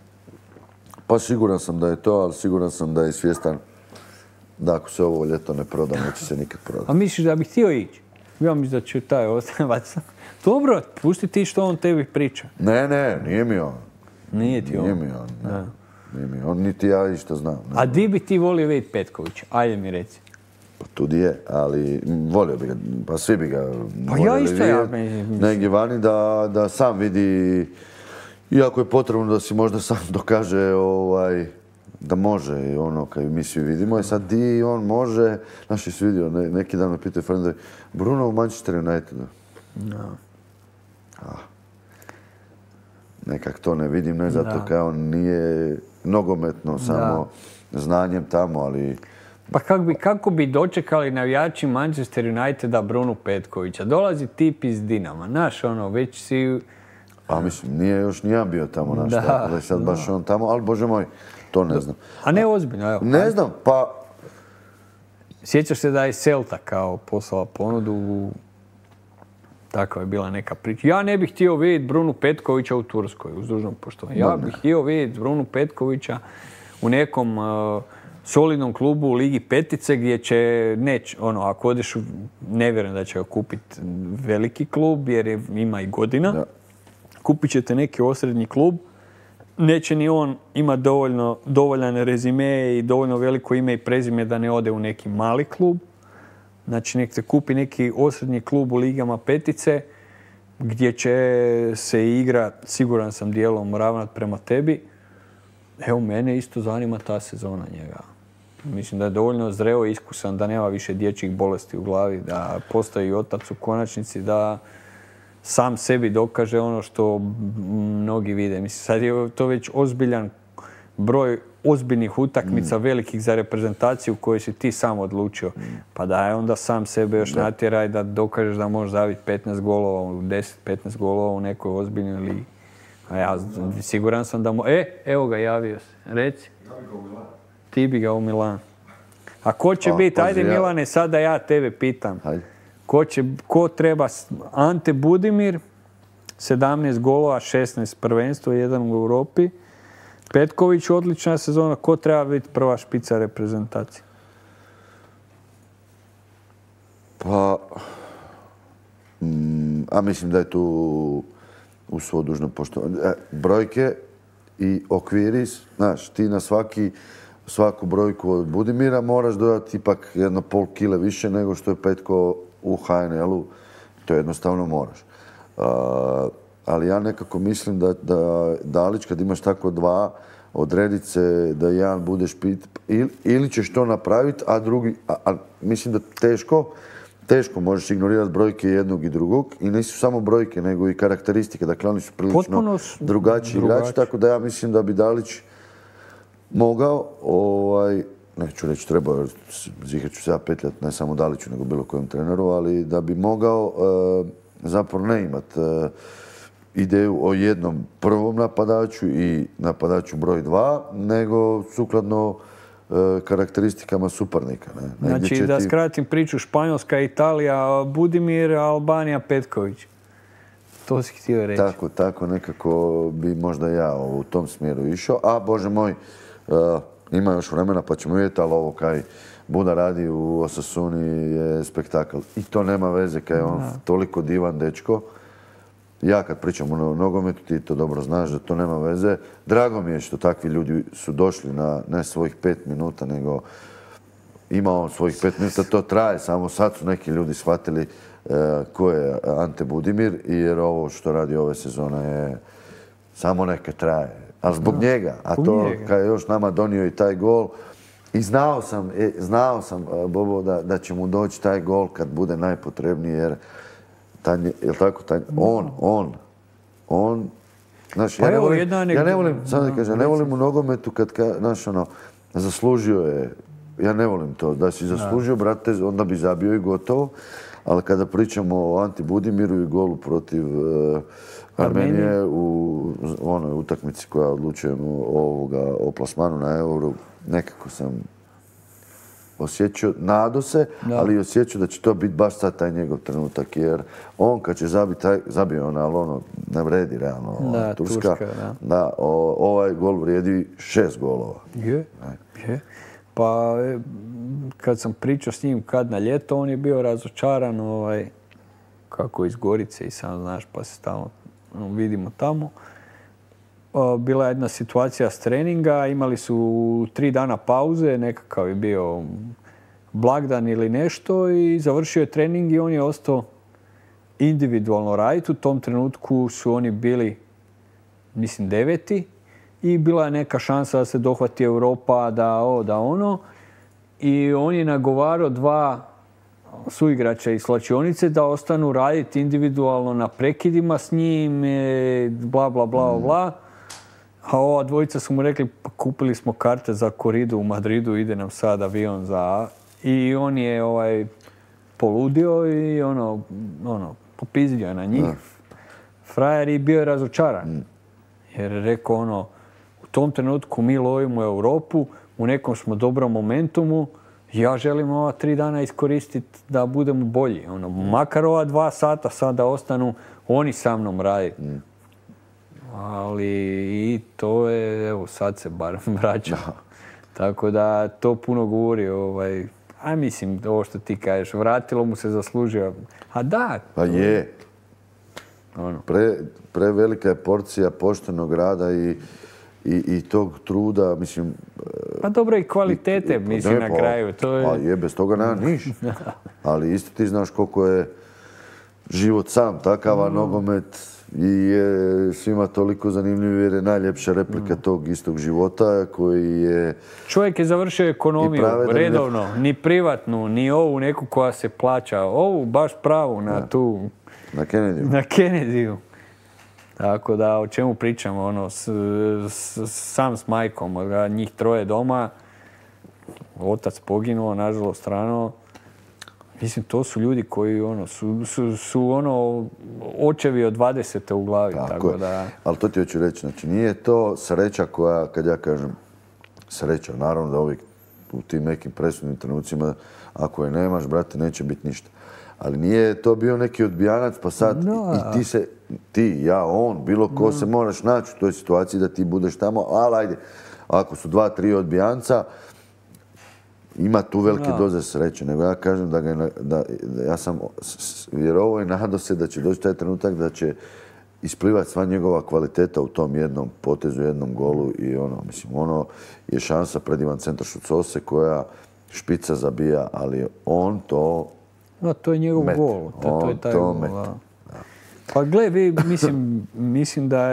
Pa siguran sam da je to, ali siguran sam da je svjestan da ako se ovo ljeto ne proda, neće se nikad prodati. A misliš da bi htio ići? Ja mislim da će taj ostavac. Dobro, pusti ti što on tebi priča. Ne, nije mi on. Nije ti on. Nije mi on, ne. Nije mi on, niti ja išta znam. Ne. A di bi ti volio vidjeti Petkovića? Ajde mi reci. Pa tu di je, ali volio bi ga, pa svi bi ga Pa ja voljeli isto, ja vidjeti. mislim. Negdje vani da sam vidi, iako je potrebno da si možda sam dokaže da može i ono kad mi svi vidimo. I sad di on može, znaš jesi vidio, neki dan me pitaju friendovi, Bruno u Manchester Unitedu. No. Nekak to ne vidim, ne zato kao on nije nogometno, samo znanjem tamo, ali... Pa kako bi dočekali navijači Manchester Uniteda Brunu Petkovića? Dolazi tip iz Dinama, znaš ono, već si... A mislim, nije još nijedan bio tamo, znaš, tako da je sad baš on tamo, ali bože moj, to ne znam. A ne ozbiljno, evo. Ne znam, pa... Sjećaš se da je Celta kao poslala ponudu, takva je bila neka priča. Ja ne bih htio vidjeti Brunu Petkovića u Turskoj, uz dužno poštovanje. Ja bih htio vidjeti Brunu Petkovića u nekom solidnom klubu u Ligi Petice gdje će, ako odeš, ne vjerujem da će ga kupiti veliki klub jer ima i godina. Da. Kupit ćete neki osrednji klub. Neće ni on ima dovoljan rezime i dovoljno veliko ime i prezime da ne ode u neki mali klub. Znači nek te kupi neki osrednji klub u ligama petice gdje će se igra, siguran sam, dijelom ravnat prema tebi. Evo, mene isto zanima ta sezona njega. Mislim da je dovoljno zreo i iskusan, da nema više dječjih bolesti u glavi, da postoji otac u konačnici, da sam sebi dokaže ono što mnogi vide. Mislim, sad je to već ozbiljan broj ozbiljnih utakmica velikih za reprezentaciju koju si ti sam odlučio. Pa da je onda sam sebe još natjeraj da dokažeš da možeš zaviti 15 golova, 10-15 golova u nekoj ozbiljnoj ligi. A ja siguran sam da evo ga, javio se. Reci. Ti bi ga u Milan. A ko će biti? Ajde Milane, sad da ja tebe pitam. Ko treba? Ante Budimir, 17 golova, 16 prvenstvo, 1 u Europi. Petković, odlična sezona. Ko treba biti prva špica reprezentacije? Pa, mislim da je tu u svo dužno poštovanje. Brojke i okviri, znaš, ti na svaku brojku od Budimira moraš dodati ipak 1,5 kile više nego što je Petko u HNL-u. To jednostavno moraš. Ali ja nekako mislim da Dalić, kad imaš tako dva, odredit se da jedan bude špit, ili ćeš to napraviti, a drugi, mislim da teško možeš ignorirati brojke jednog i drugog i nisu samo brojke, nego i karakteristike. Dakle, oni su prilično drugačiji igrači, tako da ja mislim da bi Dalić mogao, neću reći trebao, jer zihar ću se ja petljati ne samo Daliću, nego bilo kojem treneru, ali da bi mogao zapravo ne imati ideju o jednom prvom napadaču i napadaču broj 2, nego sukladno karakteristikama suparnika. Ne? Znači, da skratim priču, Španjolska, Italija, Budimir, Albanija, Petković. To si htio reći. Tako nekako bi možda ja u tom smjeru išao. A, Bože moj, ima još vremena pa ćemo vidjeti, ali ovo kaj Buda radi u Osasuni je spektakl. I to nema veze kaj je on toliko divan dečko. Ja kad pričam o nogometu, ti to dobro znaš da to nema veze. Drago mi je što takvi ljudi su došli na ne svojih 5 minuta, nego ima on svojih 5 minuta, to traje. Samo sad su neki ljudi shvatili ko je Ante Budimir, jer ovo što radi ove sezone je samo neke traje. Ali zbog njega, a to kad je još nama donio i taj gol. I znao sam Bobo, da će mu doći taj gol kad bude najpotrebniji, jer jel tako, on, znaš, ja ne volim u nogometu kad, znaš, zaslužio je ja ne volim to. Da si zaslužio, brate, onda bi zabio i gotovo. Ali kada pričamo o Anti Budimiru i golu protiv Armenije u onoj utakmici koja odlučuje o plasmanu na Euro, nekako sam osjećao, nadao se, ali osjećao da će to biti baš sad taj njegov trenutak, jer on kad će zabije on, ali ono ne vredi realno Turska. Da, ovaj gol vrijedi 6 golova. Je. Pa kad sam pričao s njim kad na ljeto, on je bio razočaran kako iz Gorice i sam znaš, pa se stalno vidimo tamo. Bila je jedna situacija s treninga, imali su 3 dana pauze, nekakav je bio blagdan ili nešto i završio je trening i on je ostao individualno raditi. U tom trenutku su oni bili, mislim, 9. i bila je neka šansa da se dohvati Europa, da ono. I on je nagovarao 2 suigrača iz slačionice da ostanu raditi individualno na prekidima s njim, bla, bla, bla, bla. A ova dvojica su mu rekli, pa kupili smo karte za koridu u Madridu, ide nam sad avion za... I on je poludio i popizdio je na njih. Frajer je bio razočaran. Jer je rekao u tom trenutku mi lovimo Europu, u nekom smo dobrom momentumu, ja želim ova 3 dana iskoristiti da budemo bolji. Makar ova 2 sata sad da ostanu oni sa mnom raditi. Ali i to je, evo, sad se bar vraća. Tako da to puno govori, a mislim, ovo što ti kažeš, vratilo mu se, zaslužio. A da. Pa je. Prevelika je porcija poštenog rada i tog truda, mislim... Pa dobro, i kvalitete, mislim, na kraju. Pa je, bez toga nema niš. Ali isto ti znaš koliko je život sam takav, a nogomet i je svima toliko zanimljiv jer je najljepša replika tog istog života koji je... Čovjek je završio ekonomiju redovno, ni privatnu, ni ovu neku koja se plaća, ovu baš pravu na tu... Na Kennedyju. Na Kennedyju. Tako da, o čemu pričamo, sam s majkom, njih 3 doma, otac poginuo, nažalost rano. Mislim, to su ljudi koji su očevi od 20. u glavi. Tako da... Ali to ti hoću reći, znači nije to sreća koja, kad ja kažem sreća, naravno da uvijek u tim nekim presudnim trenucima, ako je nemaš, brate, neće biti ništa. Ali nije to bio neki odbijanac, pa sad i ti, ja, on, bilo ko se moraš naći u toj situaciji da ti budeš tamo, ali ajde, ako su 2-3 odbijanca, ima tu velike doze sreće, nego ja kažem da ja sam vjerovao i nadao se da će doći taj trenutak da će isplivati sva njegova kvaliteta u tom jednom potezu, jednom golu i mislim, je šansa pred Ivan Centar Šucose koja špica zabija, ali on to to je njegov gol. To je taj gol. Pa gle, mislim da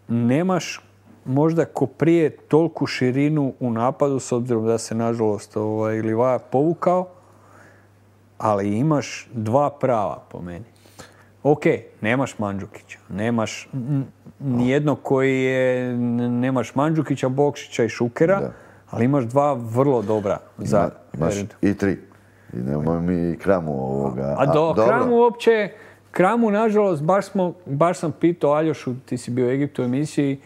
nemaš možda ko prije toliku širinu u napadu, s obzirom da se nažalost Livaja povukao, ali imaš 2 prava po meni. Ok, nemaš Mandžukića, nemaš nijednog koji je, nemaš Mandžukića, Bokšića i Šukera, ali imaš 2 vrlo dobra za imaš i 3. I nemoj mi Kramu ovoga. Kramu uopće, Kramu nažalost, baš sam pitao Aljošu, ti si bio u Egiptu u emisiji,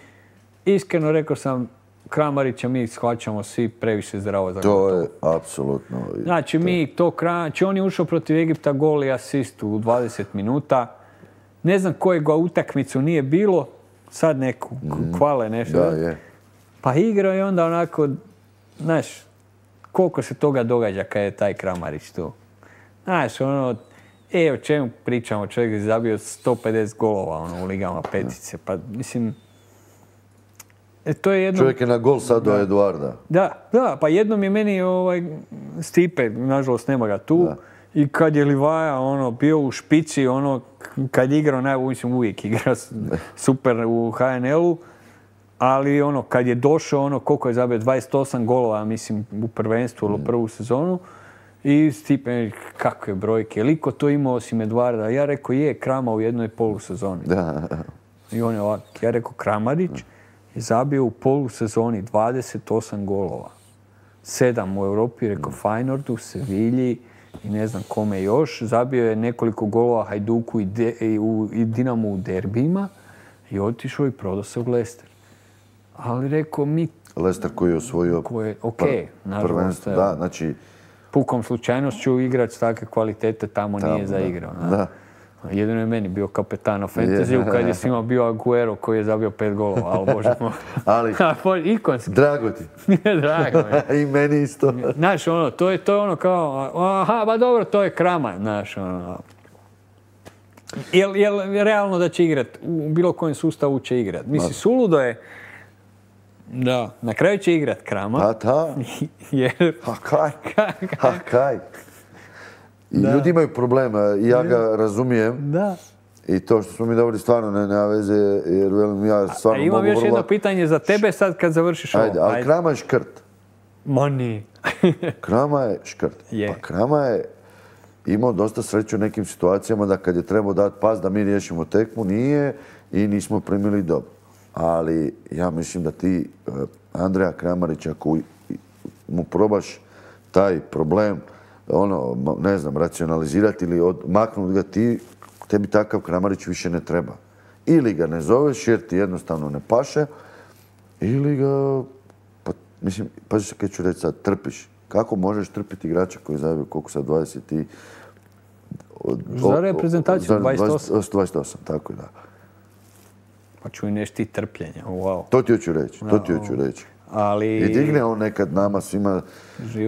iskreno rekao sam, Kramarića mi shvaćamo svi previše zdravo za gotovo. To je apsolutno. Znači on je ušao protiv Egipta, gol i asist u 20 minuta. Ne znam kojeg utakmicu nije bilo, sad neku kvale nešto. Da, je. Pa igrao je onda onako, znaš, koliko se toga događa kad je taj Kramarić tu. Znaš, o čemu pričamo, čovjek je zabio 150 golova u ligama petice, pa mislim... Čovjek je na gol sad do Eduarda. Da, pa jednom je meni Stipe, nažalost nema ga tu, i kad je Livaja bio u špici, kad je igrao, mislim uvijek igra super u HNL-u, ali kad je došao, koliko je zabio, 28 golova, mislim, u prvenstvu ili prvu sezonu, i Stipe, kakve brojke, liko to imao osim Eduarda? Ja rekao, Krama u jednoj polusezoni. I on je ovak, ja rekao, Kramarić je zabio u polusezoni 28 golova. 7 u Europi, rekao Feyenoordu, Sevilji i ne znam kome još. Zabio je nekoliko golova Hajduku i Dinamu u derbijima i otišao i prodao se u Leicester. Ali rekao mi... Leicester koji je osvojio nažalost. Da, znači... Pukom slučajnošću igrač takve kvalitete tamo nije zaigrao. Da. Jedino je meni bio kapetan u fantasy-u kad je svima bio Aguero koji je zabio 5 golova, ali bože moj. Ali, ikonski. Drago ti. Drago mi. I meni isto. Znaš, ono, to je ono kao, aha, ba dobro, to je Krama, znaš, ono. Jel realno da će igrat? U bilo kojem sustavu će igrat. Mislim, suludo je da, na kraju će igrat Krama. Pa da. Jer... kaj? I ljudi imaju problema, ja ga razumijem. Da. I to što smo mi dobili stvarno nema veze, jer velim ja stvarno mogu vrlo... Imam još jedno pitanje za tebe sad kad završiš ovo. Ajde, ali Krama je škrt. Ma nije. Krama je škrt. Pa Krama je imao dosta sreće u nekim situacijama da kad je trebao dati pas da mi riješimo tekmu, nije i nismo primili dobro. Ali ja mislim da ti Andreja Kramarića, ako mu probaš taj problem, ne znam, racionalizirati ili maknuti ga, tebi takav Kramarić više ne treba. Ili ga ne zoveš jer ti jednostavno ne paše, ili ga, mislim, pazi se kaj ću reći sad, trpiš. Kako možeš trpiti igrača koji zabio koliko sad 20 i... Za reprezentaciju 28. 28, tako je, da. Pa čuj nešto ti trpljenja, wow. To ti hoću reći. Ali... I digne on nekad nama svima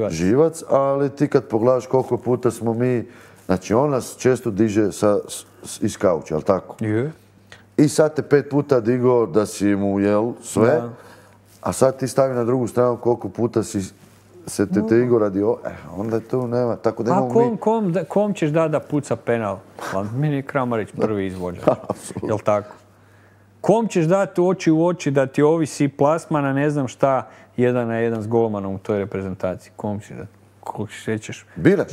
živac, ali ti kad pogledaš koliko puta smo mi... Znači, on nas često diže iz kauča, jel tako? Je. I sad te 5 puta digao da si mu jel sve, a sad ti stavi na drugu stranu koliko puta si se te digao radi onda tu nema. Tako da kom ćeš da puca penal? Meni je Kramarić prvi izvođač. Jel tako? Kom ćeš dati oči u oči da ti ovisi plasmana, ne znam šta, 1-1 s golmanom u toj reprezentaciji? Kom ćeš dati? Koliko šećeš?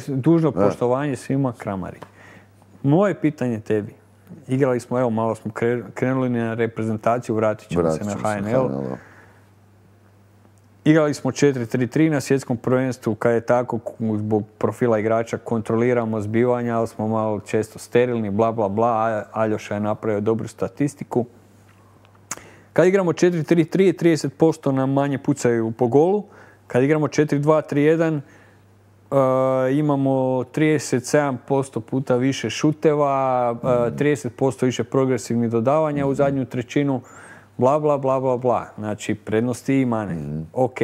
Dužno poštovanje svima, Kramarić. Moje pitanje tebi. Igrali smo, evo malo smo krenuli na reprezentaciju, vratit ćemo se na HNL. Igrali smo 4-3-3 na svjetskom prvenstvu, kad je tako, zbog profila igrača kontroliramo zbivanja, ali smo malo često sterilni, bla bla bla, Aljoša je napravio dobru statistiku. Kad igramo 4-3-3, 30% nam manje pucaju po golu. Kad igramo 4-2-3-1, imamo 37% puta više šuteva, 30% više progresivnih dodavanja u zadnju trećinu, bla, bla, bla, bla, bla. Znači, prednosti i mane. Ok.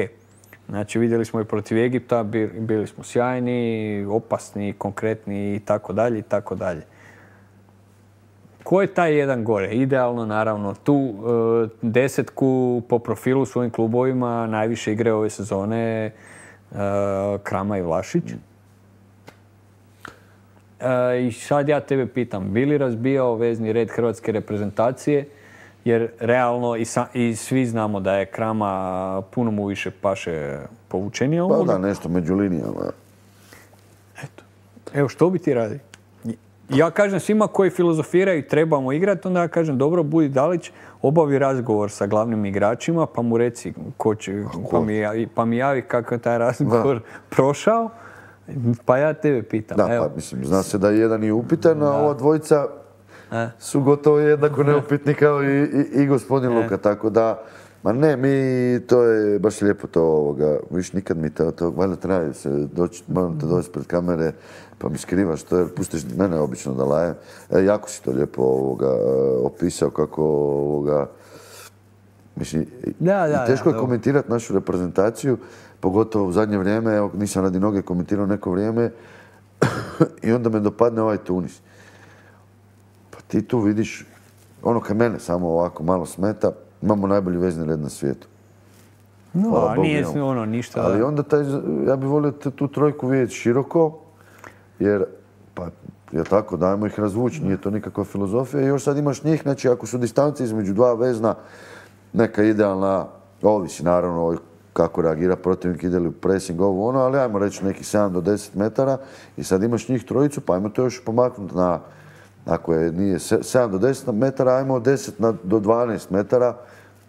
Znači, vidjeli smo i protiv Egipta, bili smo sjajni, opasni, konkretni i tako dalje, i tako dalje. Ko je taj jedan gore? Idealno, naravno, tu desetku po profilu svojim klubovima najviše igre ove sezone Krama i Vlašić. I sad ja tebe pitam, bi li razbijao vezni red hrvatske reprezentacije? Jer realno i svi znamo da je Krama puno mu više paše povučenija. Pa da, nešto među linijama. Eto. Evo, što bi ti radi? Ja kažem svima koji filozofiraju i trebamo igrati, onda ja kažem dobro, budi Dalić, obavi razgovor sa glavnim igračima, pa mu reci ko će, pa mi javi kako je taj razgovor prošao, pa ja tebe pitam. Da, pa mislim, zna se da je jedan i upitan, a ova dvojica su gotovo jednako neupitni kao i gospodin Luka, tako da, ma ne, to je baš lijepo to viš nikad mi to, valjda traje se doći, moram te doći pred kamere, pa mi skrivaš to, jer pustiš mene obično da lajem. Jako si to lijepo opisao kako mislim, teško je komentirati našu reprezentaciju, pogotovo u zadnje vrijeme, evo nisam radi noge komentirao neko vrijeme i onda me dopadne ovaj Tunis. Pa ti tu vidiš, ono kad mene samo ovako malo smeta, imamo najbolji vezni red na svijetu. No, nije ništa. Ali onda ja bih volio tu trojku vidjeti široko, jer, pa, je tako, dajmo ih razvući, nije to nikakva filozofija. I još sad imaš njih, znači ako su distance između dva vezna, neka idealna, ovisi naravno kako reagira protivnik, ide li u pressing, ali ajmo reći neki 7 do 10 metara i sad imaš njih trojicu, pa ajmo to još pomaknuti na, ako nije 7 do 10 metara, ajmo 10 do 12 metara,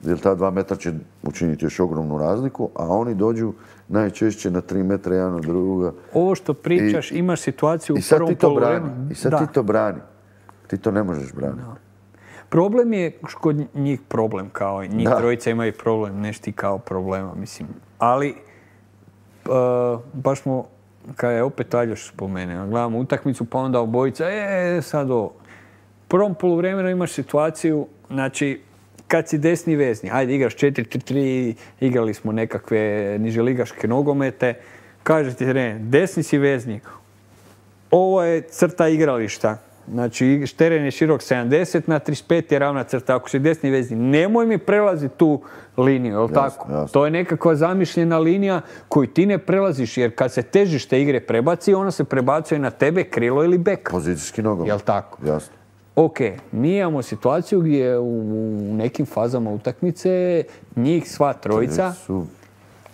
jer ta 2 metra će učiniti još ogromnu razliku, a oni dođu najčešće na 3 metra jedan od druga. Ovo što pričaš, imaš situaciju u sad prvom ti to poluvremenu. brani. I sad ti to brani. Ti to ne možeš braniti. Da. Problem je kod njih problem, kao i njih trojica imaju problem, nešto ti kao problema, mislim. Ali, baš smo, kada je opet Aljoš spomenuo, gledamo utakmicu, pa onda obojica, sad ovo. U prvom poluvremenu imaš situaciju, znači, kad si desni vezni, ajde igraš 4-3-3, igrali smo nekakve niželigaške nogomete, kaže ti trener, desni si vezni, ovo je crta igrališta, znači teren je širok 70 na 35 je ravna crta, ako si desni vezni, nemoj mi prelaziti tu liniju, jel tako? Jasno. To je nekakva zamišljena linija koju ti ne prelaziš, jer kad se težište igre prebaci, ona se prebacuje na tebe, krilo ili bek. Pozicijski nogomet. Jel tako? Jasno. Ok, mi imamo situaciju gdje u nekim fazama utakmice njih sva trojica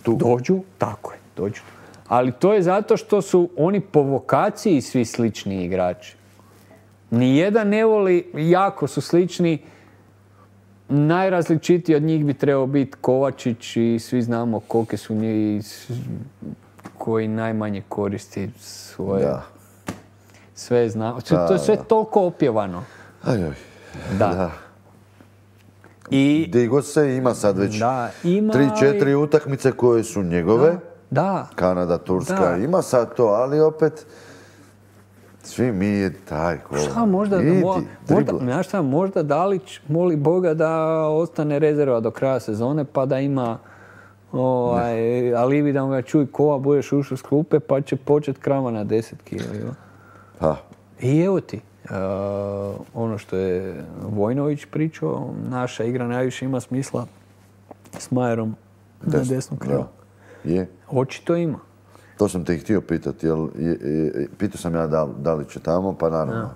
dođu, tako je, dođu. Ali to je zato što su oni po vokaciji svi slični igrači. Nijedan ne voli, jako su slični. Najrazličitiji od njih bi trebao biti Kovačić i svi znamo kolike su njih koji najmanje koristi svoje... Da. Sve znamo. To je sve toliko opjevano. Da. I gdje god se ima sad već 3-4 utakmice koje su njegove. Da. Kanada, Turska, ima sad to, ali opet svi mi je taj ko... Možda Dalić moli Boga da ostane rezerva do kraja sezone pa da ima alibi da mu ga čuj Kova, budeš ušao s klupe pa će početi krama na 10 kila. I evo ti, ono što je Vojnović pričao, naša igra najviše ima smisla s Majerom na desnom krilu. Je. Očito ima. To sam te i htio pitati, pitao sam ja da li će tamo, pa naravno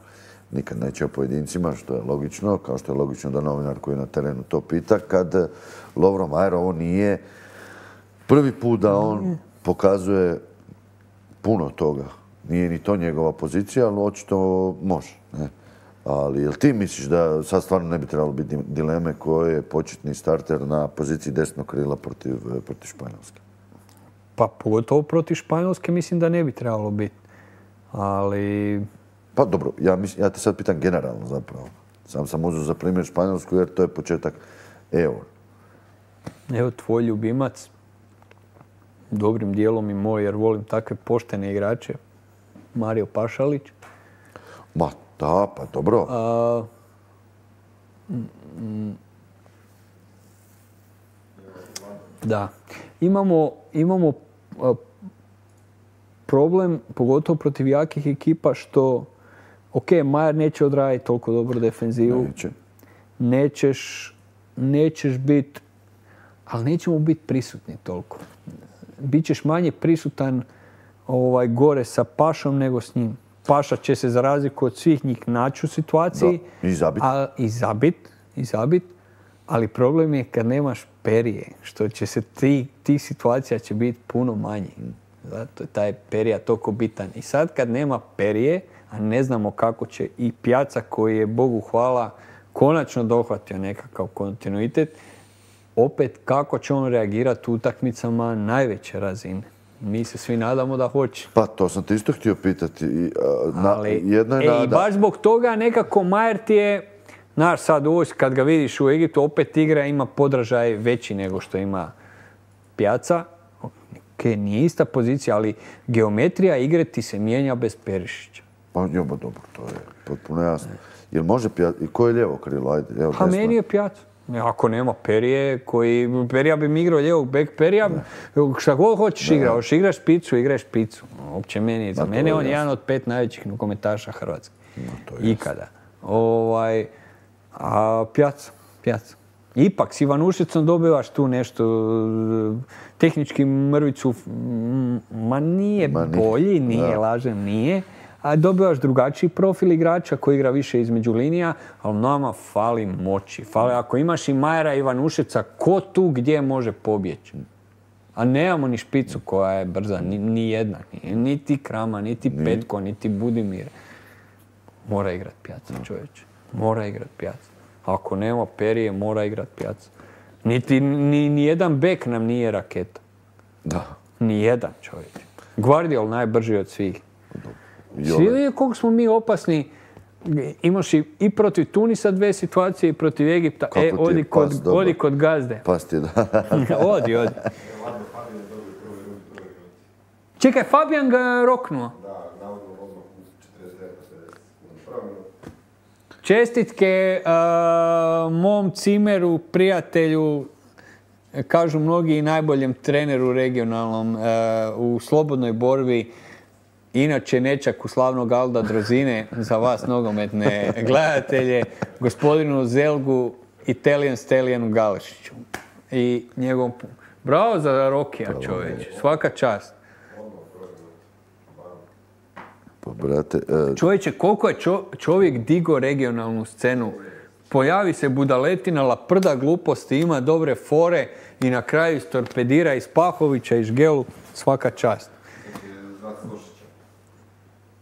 nikad neće o pojedincima, što je logično, kao što je logično da novinar koji je na terenu to pita, kad Lovro Majer ovo nije prvi put da on pokazuje puno toga. Nije ni to njegova pozicija, ali očito može. Ne? Ali jel ti misliš da sad stvarno ne bi trebalo biti dileme ko je početni starter na poziciji desnog krila protiv Španjolske? Pa pogotovo protiv Španjolske mislim da ne bi trebalo biti. Ali... Pa dobro, ja te sad pitam generalno zapravo. Sam uzeo za primjer Španjolsku jer to je početak Euro. Evo tvoj ljubimac, dobrim dijelom i moj jer volim takve poštene igrače, Mario Pašalić. Ma da, pa dobro. Da. Imamo problem, pogotovo protiv jakih ekipa, što Majer neće odraditi toliko dobro defenzivu. Nećeš biti, ali nećemo biti prisutni toliko. Bićeš manje prisutan gore sa Pašom nego s njim. Paša će se za razliku od svih njih naći u situaciji. I zabit. Ali problem je kad nemaš Perije, što će se tih situacija će biti puno manji. Zato je taj Perija toliko bitan. I sad kad nema Perije, a ne znamo kako će i Pjaca koji je, Bogu hvala, konačno dohvatio nekakav kontinuitet, opet kako će on reagirati u utakmicama najveće razine. Mi se svi nadamo da hoće. Pa to sam te isto htio pitati. I baš zbog toga nekako Majer ti je, znaš sad ovo kad ga vidiš u Egiptu, opet igra ima podražaj veći nego što ima Pjaca. Nije ista pozicija, ali geometrija igre ti se mijenja bez Perišića. Pa dobro, to je potpuno jasno. Jel može Pjaca, ko je lijevo krilo? Ajde, evo, pa meni je Pjaca. Ako nema Perije, Perija bi mi igrao lijevog bek Perija, šta god hoćeš igrati, hoćeš igraš špicu, igraš špicu. Uopće za mene on je jedan od 5 najvećih nogometaša Hrvatske. Ikada. A Pjaca. Ipak s Ivanušicom dobivaš tu nešto, tehnički mrvicu, nije bolji, nije, lažem, nije. A dobivaš drugačiji profil igrača koji igra više između linija, ali nama fali moći. Ako imaš i Majera i Ivanušica, ko tu gdje može pobjeći? A nemamo ni špicu koja je brza, ni jedna. Niti Krama, niti Petko, niti Budimir. Mora igrat Pjaca, čovječe. Mora igrat Pjaca. Ako nema Perije, mora igrat Pjaca. Ni jedan bek nam nije raketa. Da. Ni jedan čovjek. Guardiol najbrži od svih. Jole. Svi vidi koliko smo mi opasni. Imaš i protiv Tunisa 2 situacije i protiv Egipta. Kako ti je pas dobar. Odi kod gazde. Pas ti da. Odi. Čekaj, Fabijan ga roknuo. Čestitke mom cimeru, prijatelju, kažu mnogi i najboljem treneru regionalnom u slobodnoj borbi. Inače, nečaku slavnog Alda Drozine, za vas nogometne gledatelje, gospodinu Zelgu, Italijan Stelijanu Galešiću. I njegovom... Bravo za Rokija, čovječe. Svaka čast. Pa, brate... Čovječe, koliko je čovjek digo regionalnu scenu. Pojavi se budaletina, laprda gluposti, ima dobre fore i na kraju istorpedira iz Pahovića i Žgelu. Svaka čast.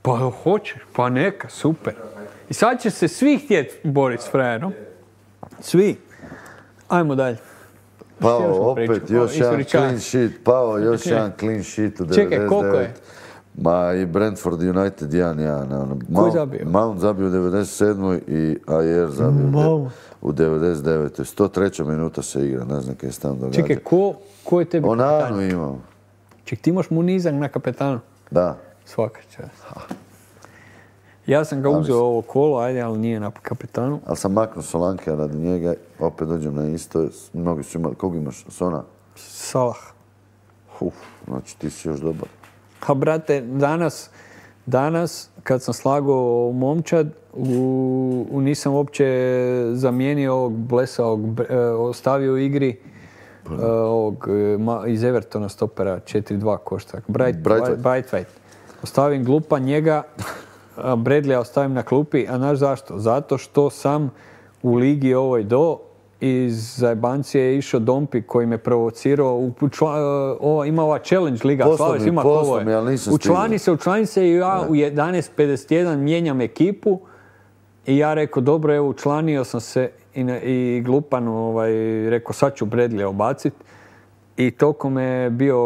Pa hoćeš, pa neka, super. I sad će se svi htjeti boriti s frajerom. Svi. Ajmo dalje. Pao opet još jedan clean sheet. Pao još jedan clean sheet u 99. Čekaj, koliko je? Ma i Brentford United 1-1. Ko je zabio? Mount zabio u 97. i Ayer zabio u 99. 103. minuta se igra, ne znam kaj se tamo događa. Čekaj, ko je tebi Onanu kapetan? imam. Ček, ti imaš Munizak na kapetanu? Da. Svaka čast. Ja sam ga uzeo ovo kolo, ajde, ali nije na kapetanu. Ali sam maknuo Solanke radi njega, opet dođem na isto. Mnogi su imali, koga imaš? Sona? Salah. Znači ti si još dobar. Ha, brate, danas kad sam slagao momčad, nisam uopće zamijenio ovog blesaog, ostavio u igri ovog iz Evertona stopera 4-2 košta. Braithwaite. Ostavim glupa njega, Bradleya ostavim na klupi, a znaš zašto? Zato što sam u ligi ovoj iz zajebancije je išao Dompi koji me provocirao. Ima ova challenge liga. Poslomi, ali nisam stigao. Učlani se i ja u 11.51 mijenjam ekipu i ja rekao, dobro, evo, učlanio sam se i glupan rekao, sad ću Bradleya obaciti. I toliko me je bio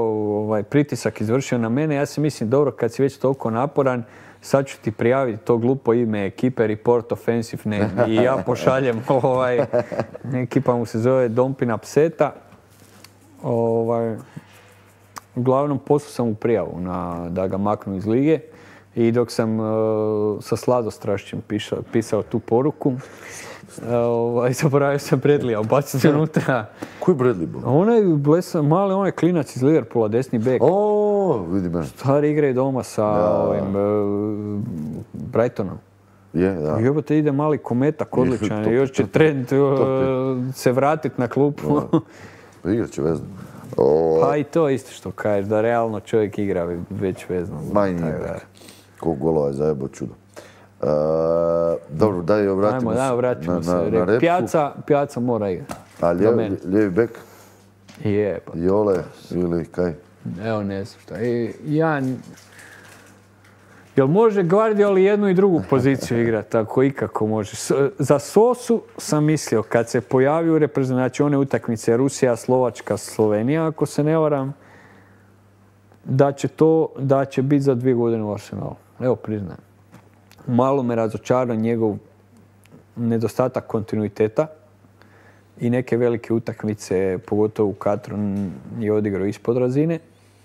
pritisak izvršio na mene. Ja se mislim, dobro, kad si već toliko naporan, sad ću ti prijaviti to glupo ime ekipe Report Offensive Name. I ja pošaljem, ekipa mu se zove Dompina Pseta. Uglavnom, poslao sam mu prijavu da ga maknu iz lige. I dok sam sa sladostrašćem pisao tu poruku, zaboravio sam Bradleya ubaciti unutra. Koji Bradley bio? Onaj mali, onaj klinac iz Liverpoola, desni bek. Vidim. Stari igraju doma sa Brightonom. Da. Jebote, ide mali kometak odličan. Još će trend se vratiti na klupu. Pa igrat će vezno. Pa i to isto što kažeš, da realno čovjek igra već vezno. Ma i nije bek. Koliko golova je zajebao čudo. Dobro, daj obratimo se. Vratimo se. Na repku. Pjaca mora igrati. A lijevi bek? Jole ili kaj? Evo, ne znam šta. Jel može Guardiol jednu i drugu poziciju igrati, ako ikako može? Za Sosu sam mislio, kad se pojavio u reprezentaciji one utakmice Rusija, Slovačka, Slovenija, ako se ne varam, da će biti za 2 godine u Arsenalu. Evo, priznajem. Malo me razočarao njegov nedostatak kontinuiteta i neke velike utakmice, pogotovo u Katru, je odigrao ispod razine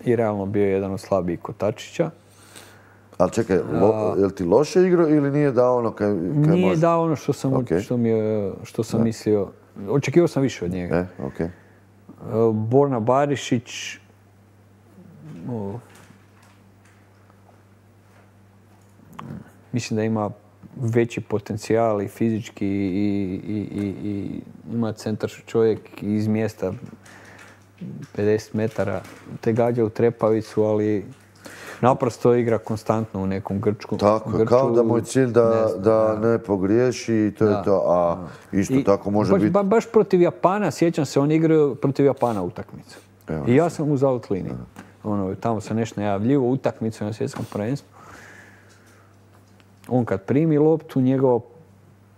i realno bio jedan od slabijih kotačića. Ali čekaj, je li ti loše igrao ili nije dao ono kaj može? Nije dao ono što sam mislio. Očekivao sam više od njega. Borna Barišić, mislim da ima veći potencijal i fizički i ima centar čovjek iz mjesta 50 metara, te gađa u trepavicu, ali naprosto igra konstantno u nekom grčku. Tako, kao da mu je cilj da ne pogriješi i to je to, a isto tako može biti... Baš protiv Japana, sjećam se, on igrao protiv Japana utakmicu. I ja sam uz out liniju. Tamo se nešto najavljivo, utakmicu na svjetskom prvenstvu. On kad primi loptu, njegova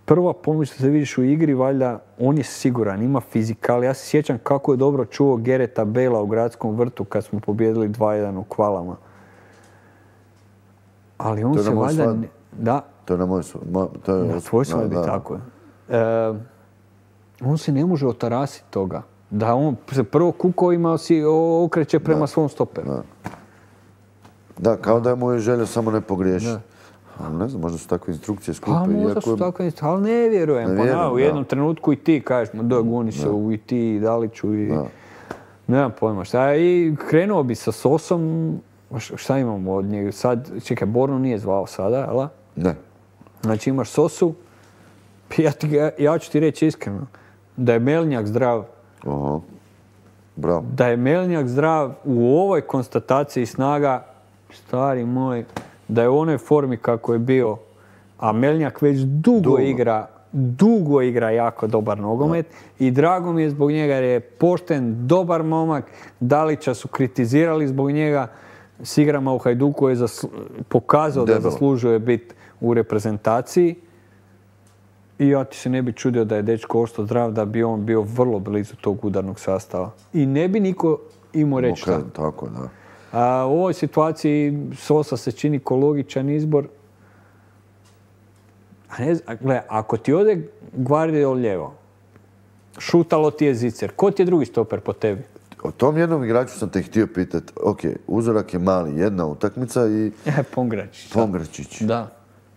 prva pomoć što se vidiš u igri, valjda, on je siguran, ima fizikal. Ja se sjećam kako je dobro čuo Gareta Bale-a u Gradskom vrtu kad smo pobijedili 2-1 u kvalama. Ali on se valjda... Da. To je na moj na tvoj svadbi, tako je. On se ne može otarasiti toga. Da on se prvo kukovima okreće prema svom stoperu. Da, kao da mu je želja samo ne pogriješiti. Ali ne znam, možda su takve instrukcije skupe. Pa možda su takve instrukcije, ali ne vjerujem. U jednom trenutku i ti kažeš, da goni se i ti i Daliću i... Nemam pojma šta. I krenuo bi sa Sosom, šta imamo od njega? Sad, čekaj, Bornu nije zvao sada, jel? Ne. Znači imaš Sosu, ja ću ti reći iskreno, da je Melnjak zdrav. Aha. Bravo. Da je Melnjak zdrav u ovoj konstataciji snaga, stari moj, da je u onoj formi kako je bio, a Melnjak već dugo igra jako dobar nogomet i drago mi je zbog njega jer je pošten, dobar momak. Dalića su kritizirali zbog njega, s igrama u Hajduku je pokazao da zaslužuje biti u reprezentaciji i ja ti se ne bi čudio da je dečko ostao zdrav, da bi on bio vrlo blizu tog udarnog sastava. I ne bi niko imao reći šta. Tako, da. A u ovoj situaciji Sosa se čini ko logičan izbor. Gle, ako ti ode Gvardiol lijevo, šutalo ti je Zicer, ko ti je drugi stoper po tebi? O tom jednom igraču sam te htio pitati. Ok, uzorak je mali, jedna utakmica i... Pongračić. Da.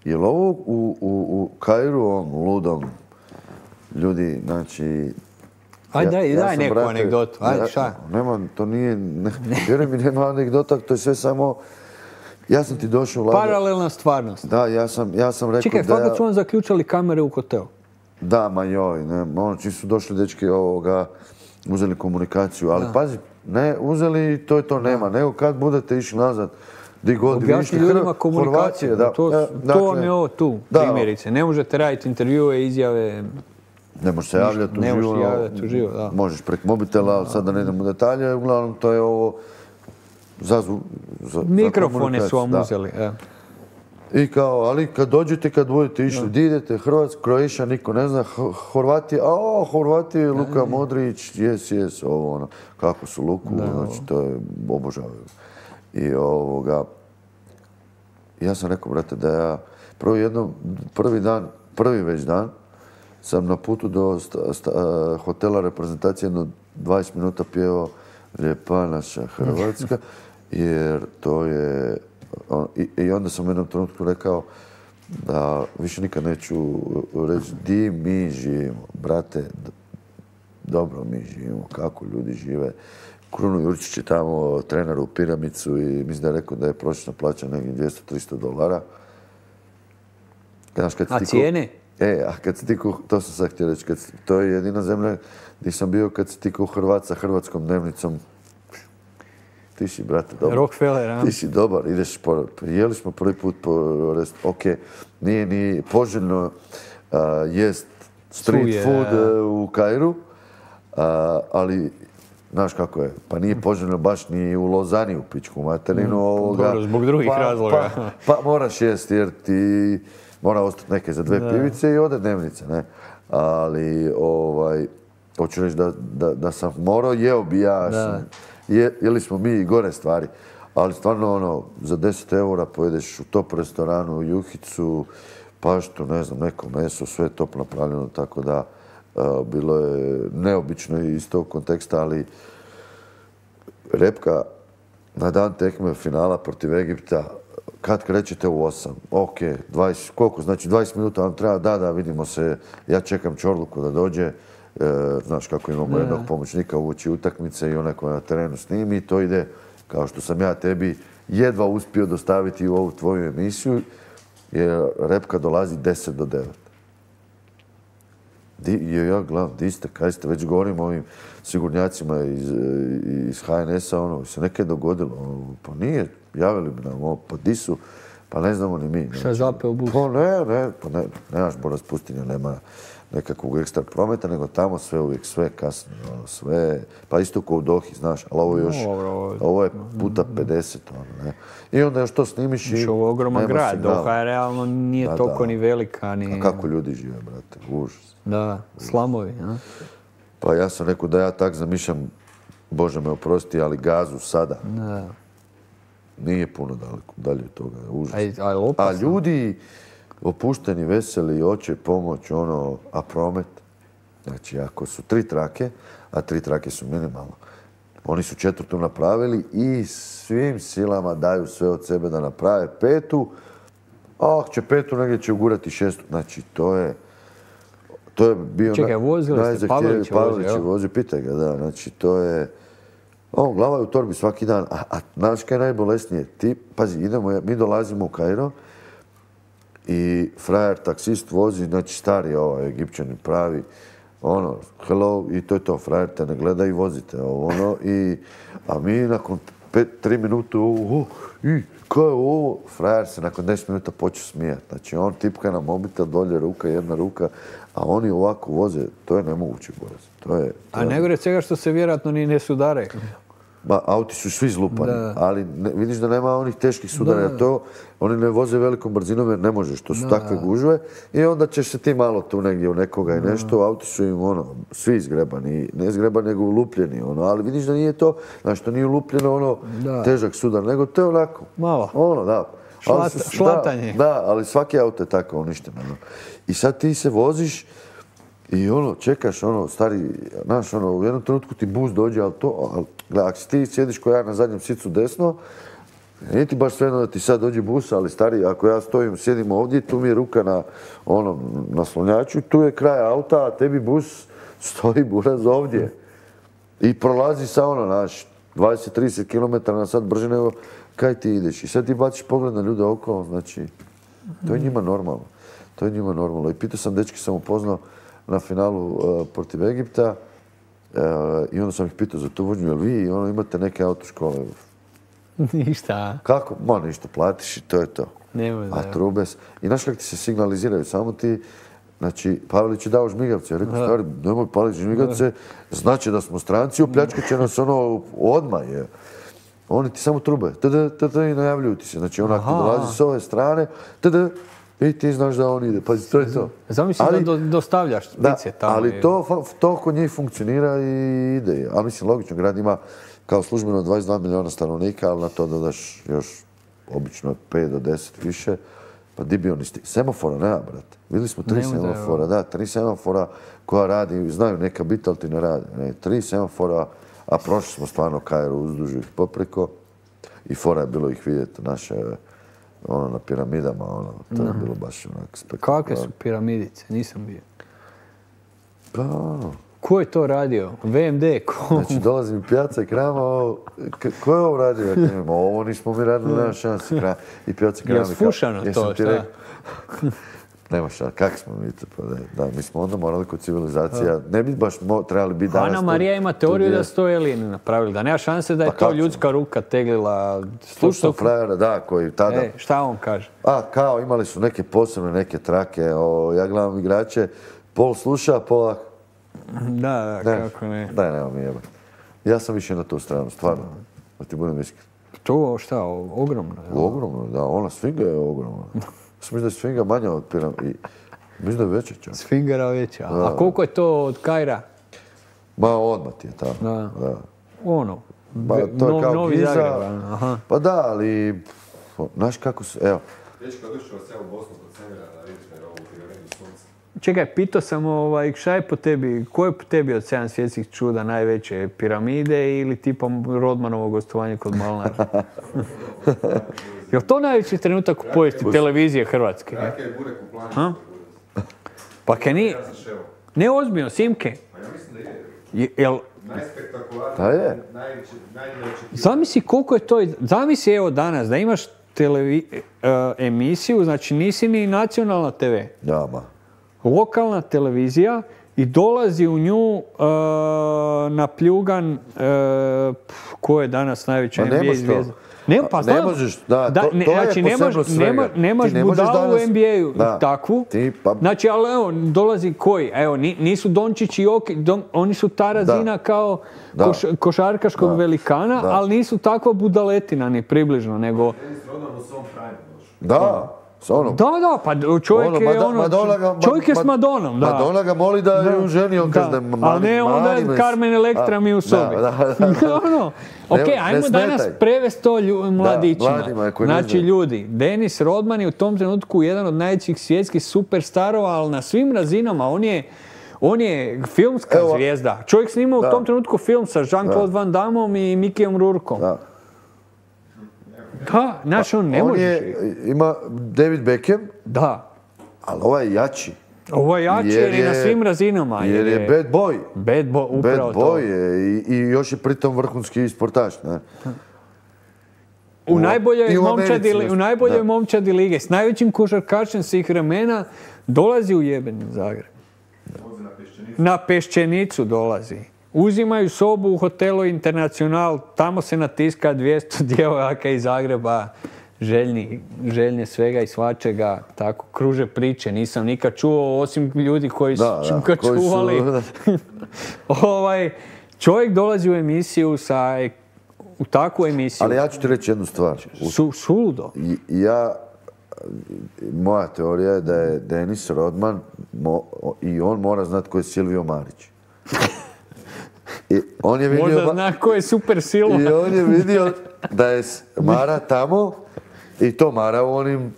Je li ovo u Kairu, ovom ludom, ljudi, znači... Ajde, daj neku anegdotu. Ajde, šta? Nema, to nije... Vjeruj mi, nema anegdota, to je sve samo... Ja sam ti došao... Paralelna stvarnost. Da, ja sam rekao da... Čekaj, fakat su vam zaključali kamere u hotelu? Da, ma joj, ne, čim su došli dečki uzeli komunikaciju, ali pazi, ne, uzeli i to je to nema, nego kad budete išli nazad, di god objasni ljudima komunikaciju, to vam je ovo tu, primjerice. Ne možete raditi intervjue, izjave... Ne možeš se javljati u živo. Da. Možeš prek mobitela, ali sad da ne idemo u detalje, uglavnom to je ovo za mikrofone su vam uzeli. I kao, ali kad dođete, kad budete išli, di idete, Hrvatska, Croatia, niko ne zna, Horvati, Luka Modrić, jes, ovo ono, kako su Luku, znači to je obožavaju. I ja sam rekao, brate, da ja prvi već dan, sam na putu do hotela reprezentacije jedno 20 minuta pjevao Lijepa naša Hrvatska, jer to je... I onda sam u jednom trenutku rekao da više nikad neću reći di mi živimo. Brate, dobro mi živimo, kako ljudi žive. Kruno Jurčić je tamo trener u Piramicu i mislim da je rekao da je prosječna plaća negdje $200-300. A cijene? A kad si ti to sam sad htio reći, to je jedina zemlja gdje sam bio kad si ti Hrvat sa hrvatskom dnevnicom. Ti si, brate, dobar. Rockefeller, a? Ti si dobar, ideš jeli smo prvi put po restu. Ok, nije ni poželjno jest street food u Kairu, ali znaš kako je, pa nije poželjno baš ni u Lozani u pičku materinu. Dobro, zbog drugih razloga. Pa moraš jest jer ti mora ostati neke za 2 pivice i ode dnevnice, ne? Ali, hoću reći da sam morao, jeo bi ja, jeli smo mi i gore stvari, ali stvarno za 10 eura pojedeš u top restoranu, u juhicu, paštu, ne znam, neko meso, sve je top napravljeno, tako da bilo je neobično iz tog konteksta, ali Repka na dan tekme finala protiv Egipta, kad krećete u 8, ok, 20, koliko, znači 20 minuta vam treba, da, vidimo se, ja čekam Čorluku da dođe, znaš kako imamo jednog pomoćnika uoči utakmice i onaj koji na terenu snimi i to ide kao što sam ja tebi jedva uspio dostaviti u ovu tvoju emisiju, jer Repka dolazi 10 do 9. Ja gledam, di ste, kaj ste, već govorim o ovim sigurnjacima iz HNS-a, se nekaj dogodilo, pa nije, javili bi nam ovo, pa di su, Pa ne znamo ni mi. Šta je zapeo bus? Pa nemaš Boras pustinja, nema nekakvog ekstra prometa, nego tamo sve kasno, sve, pa isto kao u Dohi, znaš, ali ovo još, ovo je puta 50, ne. I onda još to snimiš i ovo je ogroman nema grad, signala. Doha je realno nije toliko ni velika, ni... A kako ljudi žive, brate, užas. Da, slamovi, a? Pa ja sam rekao da ja tak zamišljam, Bože me oprosti, ali Gazu sada. Da. Nije puno dalje od toga, užas. A opasno. A ljudi opušteni, veseli, hoće pomoć, a promet. Znači, ako su 3 trake, a 3 trake su minimalno, oni su 4. napravili i svim silama daju sve od sebe da naprave 5. A ako će 5, negdje će ugurati 6. Znači, to je bio Čekaj, vozili ste, Pavelić vozi, pitaj ga, da. Znači, to je... glava je u torbi svaki dan, a znaš kaj je najbolesnije? Pazi, mi dolazimo u Kairo i frajer, taksist vozi, znači stari Egipćanin pravi, hello, i to je to, frajer te ne gleda i vozite, a mi nakon 3 minute, kaj je ovo? Frajer se nakon 10 minuta počeo smijati. Znači, on tipka na mobitel, dolje ruka, jedna ruka, a oni ovako voze, to je nemoguće, Boris. A najgore od svega što se vjerojatno ni ne sudare. Auti su svi zlupani, ali vidiš da nema onih teških sudara, jer oni ne voze velikom brzinom jer ne možeš, to su takve gužve i onda ćeš se ti malo tu negdje u nekoga i nešto, auti su im svi izgrebani, ne izgrebani nego ulupljeni, ali vidiš da nije to, znači to nije ulupljeno težak sudar, nego to je onako. Malo. Da. Šlatanje. Da, ali svaki auto je tako uništen. I sad ti se voziš i čekaš, stari, znaš, u jednom trenutku ti bus dođe, ali ako si ti sjediš ko ja na zadnjem sicu desno, nije ti baš svejedno da ti sad dođe bus, ali stari, ako ja sjedim ovdje, tu mi je ruka na naslonjaču, tu je kraj auta, a tebi bus stoji buraz ovdje. I prolazi sa 20-30 km na sat brže nego kaj ti ideš. I sad ti baciš pogled na ljude okolo, znači, to je njima normalno. I pitao sam, dečki sam upoznao na finalu protiv Egipta i onda sam ih pitao za tu vožnju, jel vi imate neke autoškole? Ništa. Kako? Ništa, platiš i to je to. A trubes. I znaš kako ti se signaliziraju, samo ti, znači, Pavelić je dao žmigavce. Ja rekao, stari, nemoj paliti žmigavce, znači da smo stranci, opljačkat će nas odmah. Oni ti samo trube, i najavljuju ti se. Znači, ako ti dolazi s ove strane, i ti znaš da on ide. Pazi, to je to. Zamisli da dostavljaš pice tamo. Ali to kod njih funkcionira i ide. Ali mislim, logično, grad ima kao službeno 22 milijuna stanovnika, ali na to dodaš još obično 5 do 10 više. Pa di bi oni semafora nema, brate. Vidjeli smo 3 semafora, 3 semafora koja radi, znaju neka biti, ali ti ne rade. 3 semafora, a prošli smo stvarno Kairo uzduž ih popreko i fora je bilo ih vidjeti naše na piramidama, to je bilo baš onak spektakularno. Kakve su piramidice? Nisam bio. Pa... Ko je to radio? VMD? Znači, dolazim Pijaca i Krama, ko je ovo radio? Ovo nismo mi radili, nema šansi. I Pijaca i Krama... Je sfušano to, šta? Nema šta, kak smo mi to, da, mi smo onda morali kod civilizacija, ne bi baš trebali biti danas... Ana Marija ima teoriju da su to Elini napravili, da nema šanse da je to ljudska ruka teglila... Slušao frajera, da, koji tada... Šta on kaže? Kao imali su neke posebne, neke trake, ja gledam igrače, pol sluša, pola... Da, kako ne. Daj, nema mi jeba. Ja sam više na tu stranu, stvarno, da ti budem iskren. To šta, ogromno? Ogromno, da, ona sfinga je ogromna. Mislim da je sfinga manja od piramide. Mislim da je veća čak. Sfingera veća. A koliko je to od Kaira? Odmah ti je tamo. Da. To je kao Novi Giza. Zagreb. Pa da, ali... Znaš kako su... Evo. Dečko, odlično vas ja u Bosnu kod Semira da vidiš na ovu piramidu sunca. Čekaj, pitao sam šta je po tebi, ko je po tebi od 7 svjetskih čuda najveće? Piramide ili tipa Rodmanovo gostovanje kod Malnara? Je li to najveći trenutak u povijesti televizije Hrvatske? Rake je burek u planu. Pa kaj nije... Ne ozbiljno, Simke. Pa ja mislim da je. Najspektakularniji, najveći. Zamisli koliko je to... Zamisli evo danas da imaš emisiju, znači nisi ni nacionalna TV. Lokalna televizija i dolazi u nju napljugan ko je danas najveća NBA zvijezda. Ne, pa znam. Ne možeš, da, to je znači, posebno svega. nemaš Ti ne možeš budalu u danas- NBA-u Da. takvu. Znači, ali evo, dolazi koji? Evo, nisu Dončić i Jokić, oni su ta razina kao košarkaškog velikana, ali nisu takva budaletina ni približno, nego... Da, s onom. Da, pa čovjek je čovjek je s Madonom, da. Madonna ga moli da ju ženi, on kaže da je ali ne onda Carmen Electra mi u sobi. Ok, ajmo danas prevesti to mladićima. Znači ljudi, Dennis Rodman je u tom trenutku jedan od najvećih svjetskih superstarova, ali na svim razinama on je filmska zvijezda. Čovjek snimao u tom trenutku film sa Jean-Claude Van Dammom i Mickeyom Rourkeom. Da, znaš, on ne može. Ima David Beckham, ali ovaj je jači. Ovo je jači jer je na svim razinama. Jer je bad boy. Bad boy, upravo to. Bad boy je i još je pritom vrhunski sportaš. Ne? U najboljoj momčadi lige, s najvećim košarkašem svih vremena, dolazi u jebeni Zagreb. Na Peščenicu dolazi. Uzimaju sobu u hotelu Internacional, tamo se natiska 200 djevojaka iz Zagreba, željni svega i svačega, tako kruže priče, nisam nikad čuo, osim ljudi koji su ga čuvali. Čovjek dolazi u emisiju u takvu emisiju. Ali ja ću ti reći jednu stvar. Suludo. Moja teorija je da je Dennis Rodman i on mora znati ko je Silvio Marić. Možda zna ko je super Silva. I on je vidio da je Mara tamo i to Mara u onim...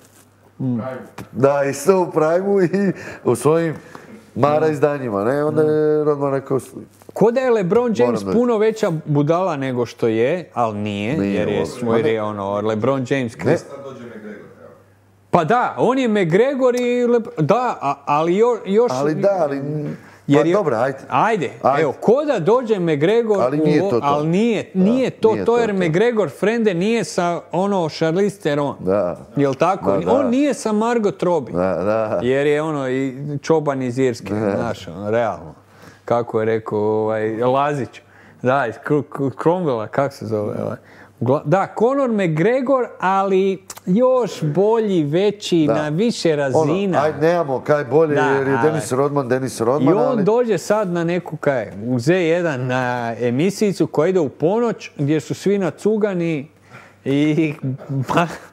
Da, isto u Prime-u i u svojim Mara izdanjima. Ne, onda je Rodman rekao... Ko da je LeBron James puno veća budala nego što je, ali nije jer je LeBron James... Pa da, on je McGregor i... Da, ali još... Ali da, ali... Pa dobro, ajde. Evo, ko da dođe McGregor... Ali nije to. Ali nije to jer McGregor frende nije sa Charlize Theron. Da. Jel' tako? On nije sa Margot Robbie. Da. Jer je i čoban iz Irske, znaš, realno. Kako je rekao Lazić. Da, iz Cromwella, kako se zove? Da, Conor McGregor, ali još bolji, veći, na više razina. Ajde, nemamo kaj bolje jer je Dennis Rodman. I on dođe sad na neku u Z1 na emisijicu koja ide u ponoć gdje su svi nacugani i...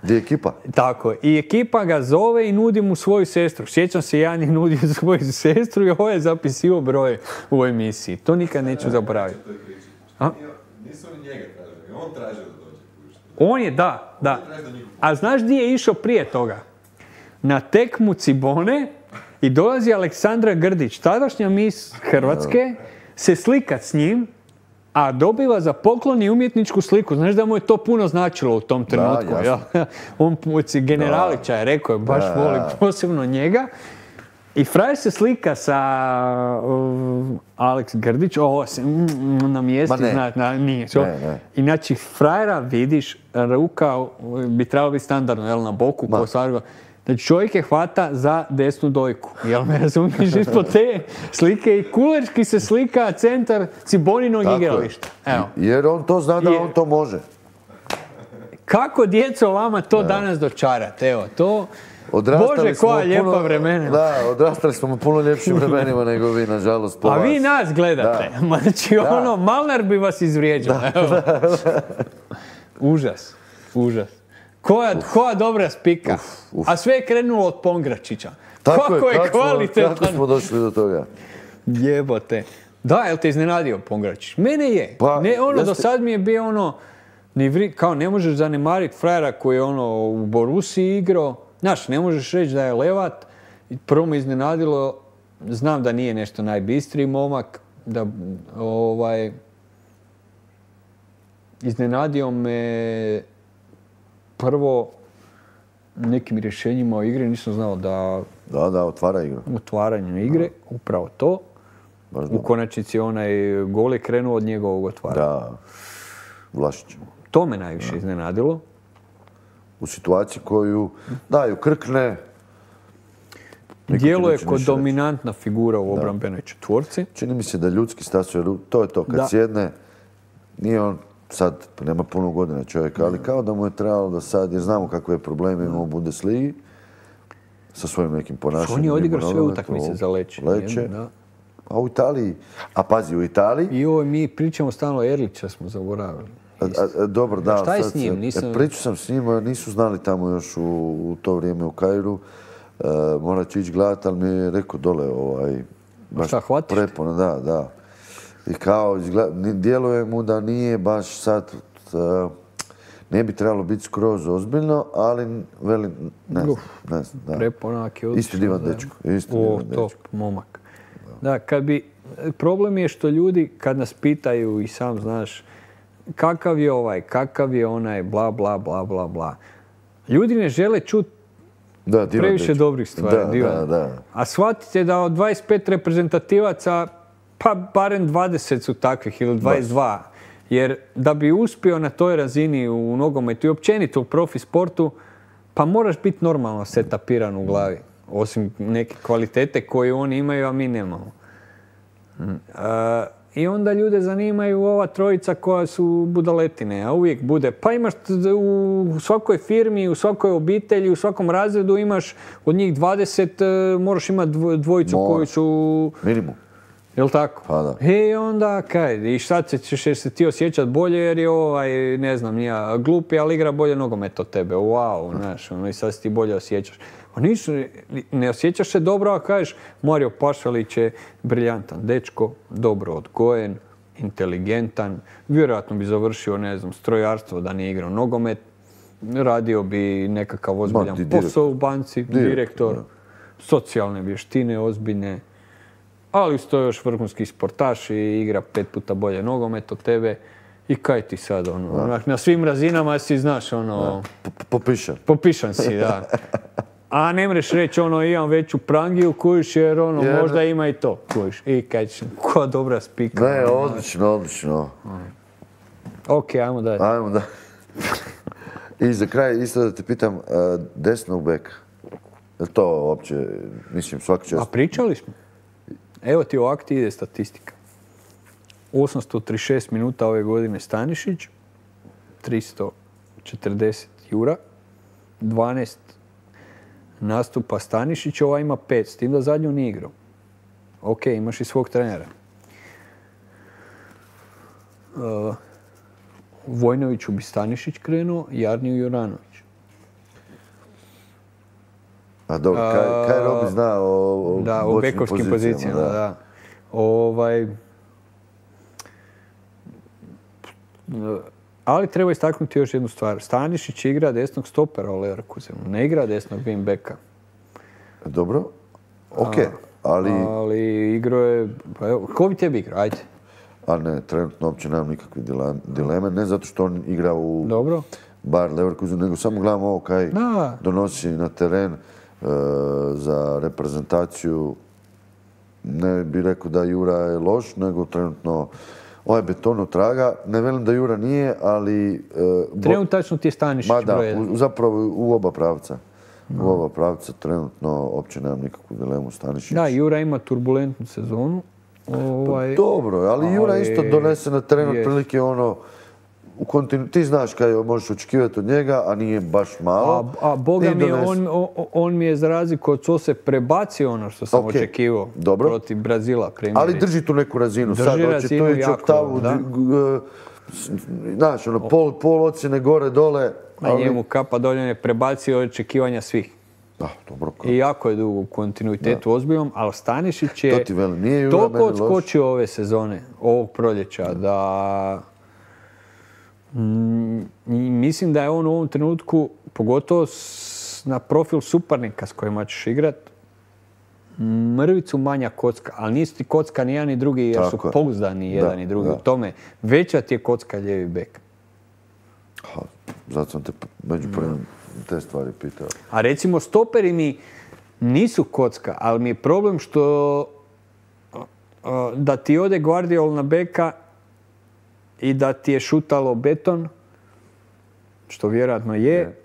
Gdje je ekipa? Tako, i ekipa ga zove i nudi mu svoju sestru. Sjećam se, Jan je nudio svoju sestru i ovo je zapisivao broj u emisiji. To nikad neću zaboraviti. Nisu oni njega tražili, on tražio da dođe. On je, da. A znaš gdje je išao prije toga? Na tekmu Cibone i dolazi Aleksandra Grdić, tadašnja mis Hrvatske, se slikat s njim, a dobiva za poklon i umjetničku sliku. Znaš da mu je to puno značilo u tom trenutku. On generalića je rekao, baš voli posebno njega. I frajer se slika sa Alex Grdić, ovo se na mjestu, nije. I znači frajera vidiš, ruka bi trebalo biti standardno, na boku, znači čovjek je hvata za desnu dojku. Jel me razumiješ, ispod te slike i kulerski se slika centar Ciboninog igrališta. Jer on to zna da on to može. Kako djeco vama to danas dočarate? Evo, to... Bože, koja lijepa vremena. Da, odrastali smo u puno ljepšim vremenima nego vi, nažalost, po vas. A vi nas gledate. Znači, Malnar bi vas izvrijeđao. Užas. Koja dobra spika. A sve je krenulo od Pongračića. Kako je kvalitetan. Kako smo došli do toga? Jebote. Da, jel te iznenadio Pongračić? Mene je. Do sad mi je bio kao ne možeš zanemariti frajera koji je u Borusiji igrao. Znaš, ne možeš reći da je levat. Prvo me iznenadilo, znam da nije nešto najbistriji momak, da iznenadio me prvo nekim rješenjima o igri, nisam znao da... Da, otvara igru. Otvaranjem igre, upravo to. U konačnici onaj gol je krenuo od njegovog otvaranja. Da, Vlašić. To me najviše iznenadilo. U situaciji koju daju krkne. Djeluje kod dominantna figura u obrambenoj četvorci. Čini mi se da ljudski stasuje, to je to, kad sjedne, nije on sad nema puno godina čovjeka, ali kao da mu je trebalo da sad, jer znamo kakve probleme imamo u Bundesligi, sa svojim nekim ponašanjem. On je odigrao sve utakmice za Leće. A u Italiji, a pazi, u Italiji... I mi pričamo stalno Erlića smo zaboravili. Dobro, da. Šta je s njim? Pričao sam s njima, nisu znali tamo još u to vrijeme u Kairu. Morat ću ići gledati, ali mi je rekao dole baš prepona, da. I kao, djeluje mu da nije baš sad, ne bi trebalo biti skroz ozbiljno, ali velim, ne znam. Preponak je odlično. Isti divan dečko. Top, momak. Da, problem je što ljudi kad nas pitaju i sam znaš kakav je ovaj, kakav je onaj, bla, bla, bla, bla, bla. Ljudi ne žele čuti previše dobrih stvari. Da. A shvatite da od 25 reprezentativaca, pa barem 20 su takvih ili 22. Jer da bi uspio na toj razini u nogometu i općenito u profi sportu, pa moraš biti normalno setapiran u glavi. Osim neke kvalitete koje oni imaju, a mi nemamo. I onda ljude zanimaju ova trojica koja su budaletine, a uvijek bude. Pa imaš u svakoj firmi, u svakoj obitelji, u svakom razredu imaš od njih 20, moraš imati dvojicu koji su... Minimum. Jel' tako? Pa da. I onda kaj, i šta ćeš se ti osjećati bolje jer je ne znam, nija glupi, ali igra bolje nogomet od tebe. Wow, znaš, i sad se ti bolje osjećaš. A ne osjećaš se dobro, a kažeš Mario Pašalić je briljantan dečko, dobro odgojen, inteligentan, vjerojatno bi završio, ne znam, strojarstvo da nije igrao nogomet, radio bi nekakav ozbiljan posao u banci, direktor, socijalne vještine ozbiljne, ali uz to još vrhunski sportaš i igra 5 puta bolje nogomet od tebe. I kaj ti sad, na svim razinama si, znaš, Popišan si, da. A ne mreš reći, imam veću prangiju, kujiš, jer možda ima i to, kujiš. I kaj ćeš, koja dobra spika. Ne, odlično. Ok, ajmo dalje. I za kraj, isto da te pitam, desnog beka. Je to uopće, mislim, svaka čast? A pričali smo. Evo ti ovak ti ide statistika. 836 minuta ove godine Stanišić, 340 Jura, 12 nastupa Stanišić, ova ima 5, s tim da zadnju nije igrao. Ok, imaš i svog trenera. Vojnoviću bi Stanišić krenuo, Jarniju Juranović. A dobro, kaj Robi zna o bekovskim pozicijama, da. Ali treba istaknuti još jednu stvar. Stanišić igra desnog stopera u Leverkusenu, ne igra desnog wingbacka. Dobro, ok, ali... Ali igrao je... Ko bi tebi igrao? Ajde. A ne, trenutno uopće nemam nikakve dileme, ne zato što on igra u Dobro. Bayer Leverkusenu, nego samo gledam ovo kaj donosi na teren za reprezentaciju. Ne bih rekao da Jura je loš, nego trenutno ovaj beton traga. Ne velim da Jura nije, ali... Trenutačno ti je Stanišić broj jedan. Zapravo u oba pravca. U oba pravca trenutno uopće nemam nikakvu dilemu Stanišić. Da, Jura ima turbulentnu sezonu. Dobro, ali Jura isto donese na teren otprilike ti znaš kaj možeš očekivati od njega, a nije baš malo. A Boga mi, on mi je za razliku od Sose prebacio ono što sam očekivao protiv Brazila. Ali drži tu neku razinu. Drži razinu jako, da. Znaš, pol ocjene gore, dole. A njemu kapa dolje je prebacio očekivanja svih. Da, dobro. I jako je dugo u kontinuitetu ozbiljnom, ali Stanišić je toliko odskočio ove sezone, ovog proljeća, da... Mislim da je on u ovom trenutku, pogotovo na profil suparnika s kojima ćeš igrat, mrvicu manja kocka, ali nisu ti kocka ni jedan ni drugi jer su pouzdani jedan i drugi. U tome veća ti je kocka lijevi bek. Zato sam te među prvim te stvari pitao. A recimo stoperi mi nisu kocka, ali mi je problem što da ti ode Guardiol na beka i da ti je šutalo beton, što vjerojatno je.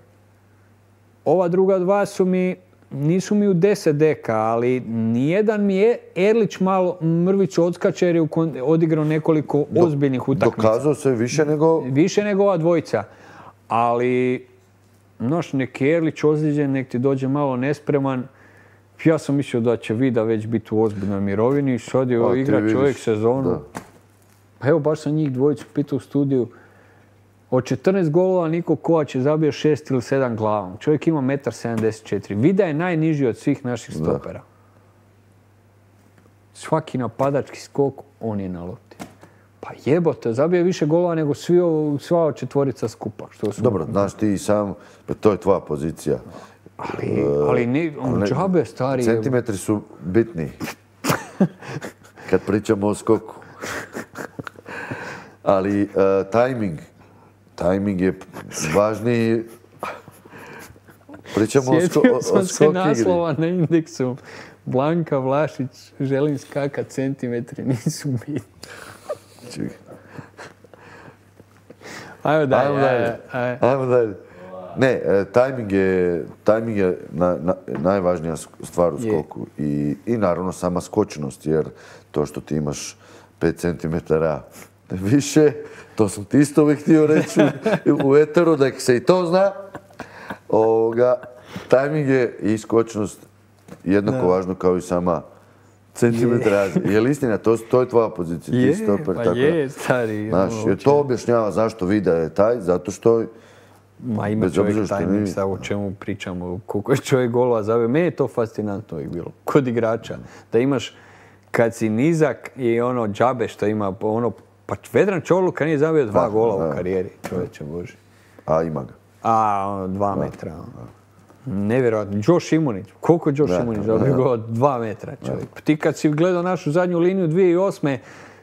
Ova druga dva su mi nisu mi u 10 deka, ali nijedan mi je Erlić malo mrvicu odskače jer je odigrao nekoliko ozbiljnih utakmica. Dokazao se više nego... Više nego ova dvojica. Ali, znaš, neki Erlić ozlijeđen, nek ti dođe malo nespreman. Ja sam mislio da će Vida već biti u ozbiljnoj mirovini. Sad je igra čovjek sezonu. Da. Pa evo, baš sam njih dvojicu pitao u studiju. Od 14 golova Niko Kovač je zabio 6 ili 7 glavom. Čovjek ima 1,74 m. Vida je najniži od svih naših stopera. Svaki napadački skok, on je na lopti. Pa jebote, zabio je više golova nego sva četvorica skupa. Dobro, znaš ti i sam, to je tvoja pozicija. Ali džabe stari... Centimetri su bitni. Kad pričamo o skoku. Ali timing je važniji. Pričamo o skok igri. Sjetio sam se naslova na Indeksu. Blanka Vlašić, želim skakat, centimetri nisu bitni. Ajmo dalje. Ne, timing je najvažnija stvar u skoku. I naravno sama skočnost, jer to što ti imaš 5 cm više, to sam ti isto uvijek htio reći u eteru, da se i to zna. Timing je i skočnost jednako važno kao i sama centimetra razlika. Je li istina? To je tvoja pozicija. Je, stari. Znaš, jer to objašnjava zašto Vida je taj, zato što... Ma ima čovjek timing, sad o čemu pričamo, koliko je čovjek golova zabio. Meni je to fascinantno uvijek bilo, kod igrača. Da imaš, kad si nizak i ono džabe što ima, ono, pa Vedran Čorluka nije zabio 2 gola u karijeri, čovječe Boži. A ima ga. 2 metra. Nevjerojatno. Josh Šimunić. Koliko je Josh Šimunić zabio gola? 2 metra, čovjek. Ti kad si gledao našu zadnju liniju 2008.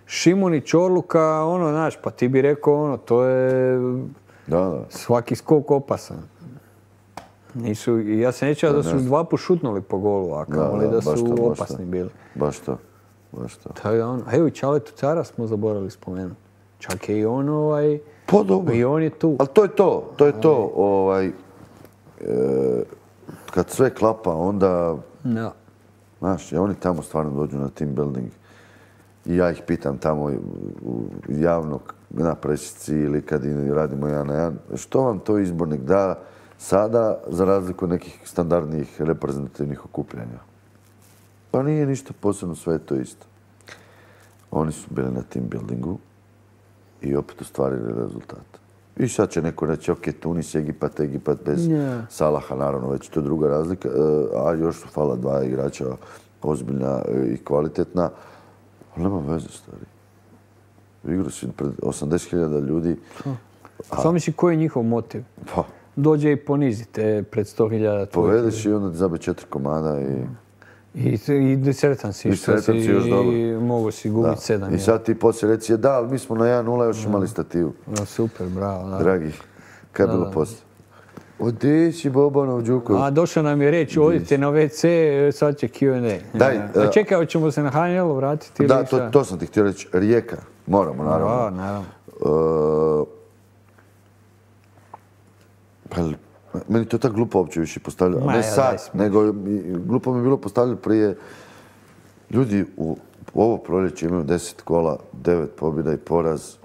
Šimunić, Čorluka, ono, znaš, pa ti bi rekao, ono, to je... Svaki skok opasan. Ja se nećao da su 2 put šutnuli po golu, a kamoli da su opasni bili. Baš to. Evo i Čaletu Cara smo zaboravili spomenuti. Čak je i on Pa dobro. I on je tu. Ali to je to. Kad sve klapa, onda... Znaš, oni tamo stvarno dođu na team building. I ja ih pitam tamo javno na presici ili kad radimo 1 na 1. Što vam to izbornik da sada za razliku od nekih standardnih reprezentativnih okupljanja? Pa nije ništa posebno, sve je to isto. Oni su bili na team buildingu i opet ostvarili rezultat. I sad će neko reći, ok, Tunis, Egipat bez Salaha, naravno, već to je druga razlika, a još su fala 2 igrača ozbiljna i kvalitetna. Ali nema veze, stari. Igrao si pred 80.000 ljudi. Samo misli koji je njihov motiv? Pa. Dođe i ponizite pred 100.000. Povedeš i onda ti zabe 4 komada i... I sretan si što si mogu si gubiti 7. I sad ti poslije reci, da, ali mi smo na 1-0 još imali stativu. Super, bravo. Dragi, kaj je bilo poslije? Odeći Bobanov Đuković. Došao nam je reći, odite na WC, sad će Q&A. Čekaj, hoćemo se na HNL-u vratiti? Da, to sam ti htio reći. Rijeka, moramo, naravno. Naravno. Meni to je tako glupo uopće više postavljati. Ne sad, nego glupo mi je bilo postavljati prije. Ljudi u ovo proljeće imaju 10 kola, 9 pobjeda i poraz,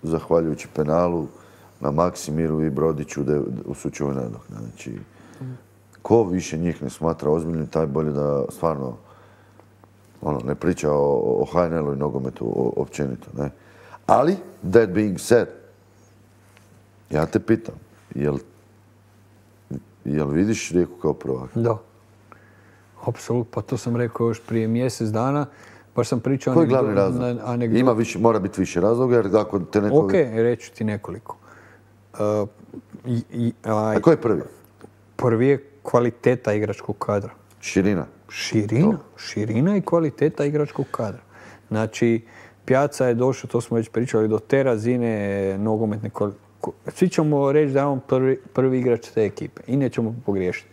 zahvaljujući penalu na Maksimiru i Brodiću u Sučevoj nadoknadi. Znači, ko više njih ne smatra ozbiljnim, taj bolje da stvarno ne priča o HNL-u i nogometu općenito. Ali, that being said, ja te pitam, jel vidiš Rijeku kao prvak? Da. Apsolutno, pa to sam rekao još prije mjesec dana. Baš sam pričao... Koji je glavni razlog? Mora biti više razloga, jer ako te neko... Ok, reću ti nekoliko. A koji je prvi? Prvi je kvaliteta igračkog kadra. Širina? Širina i kvaliteta igračkog kadra. Znači, Pjaca je došao, to smo već pričali, do te razine nogometne kvalitete. Svi ćemo reći da je on prvi igrač te ekipe i nećemo pogriješiti.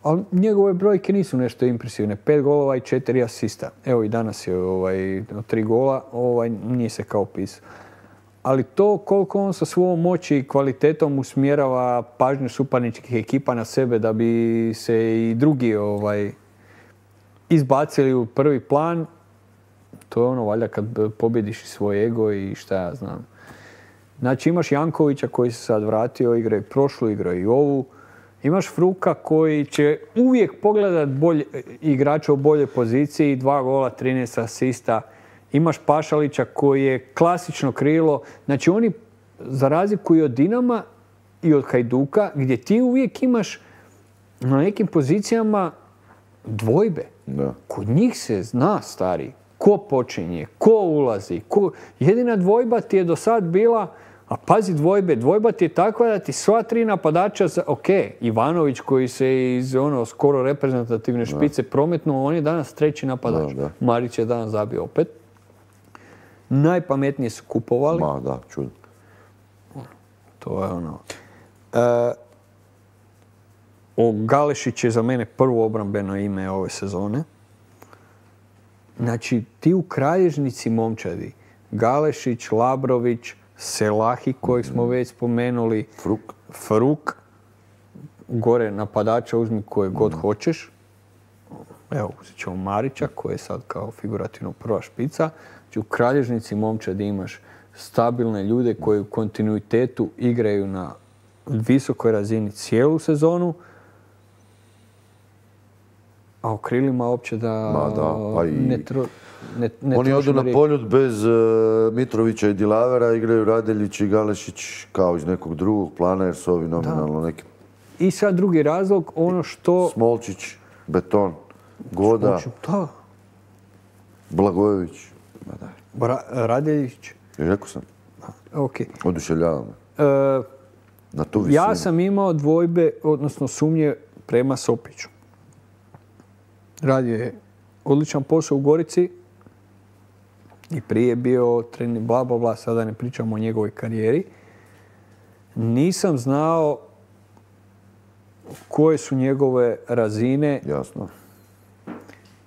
Ali njegove brojke nisu nešto impresivne. 5 golova i 4 asista. Evo i danas je 3 gola, nije se kao pisao. ali to koliko on sa svojom moći i kvalitetom usmjerava pažnju suparničkih ekipa na sebe da bi se i drugi izbacili u prvi plan, to je ono valjda kad pobjediš svoj ego i šta ja znam. Znači imaš Jankovića koji se sad vratio, igra i prošlu, igra i ovu. Imaš Fruka koji će uvijek pogledat igrača u boljoj poziciji, 2 gola, 13 asista. Imaš Pašalića koji je klasično krilo. Znači oni, za razliku i od Dinama i od Hajduka, gdje ti uvijek imaš na nekim pozicijama dvojbe. Da. Kod njih se zna, stari, ko počinje, ko ulazi. Jedina dvojba ti je do sad bila, a pazi dvojba ti je takva da ti sva 3 napadača, Ivanović koji se iz skoro reprezentativne špice prometnuo, on je danas 3. napadač. Da. Marić je danas zabio opet. Najpametnije su kupovali. Ma da, čudno. To je Galešić je za mene prvo obrambeno ime ove sezone. Znači, ti u kralježnici momčadi, Galešić, Labrović, Selahi kojeg smo već spomenuli, Fruk, gore napadača uzmi koje god hoćeš. Evo, uzet ćemo Marića koji je sad kao figurativno prva špica. Znači, u kralježnici momčadi imaš stabilne ljude koji u kontinuitetu igraju na visokoj razini cijelu sezonu, a u krilima uopće oni odu na poljud bez Mitrovića i Dilavera, igraju Radeljić i Galešić kao iz nekog drugog plana jer su ovi nominalno neki. I sad drugi razlog, ono što... Smolčić, Beton, Goda, Blagojević. Radeljić. Rekao sam. Okay. Oduševljava me. Na tu visinu. Ja sam imao dvojbe, odnosno sumnje prema Sopiću. Radio je odličan posao u Gorici i prije bio trener bla, sada ne pričamo o njegovoj karijeri. Nisam znao koje su njegove razine. Jasno.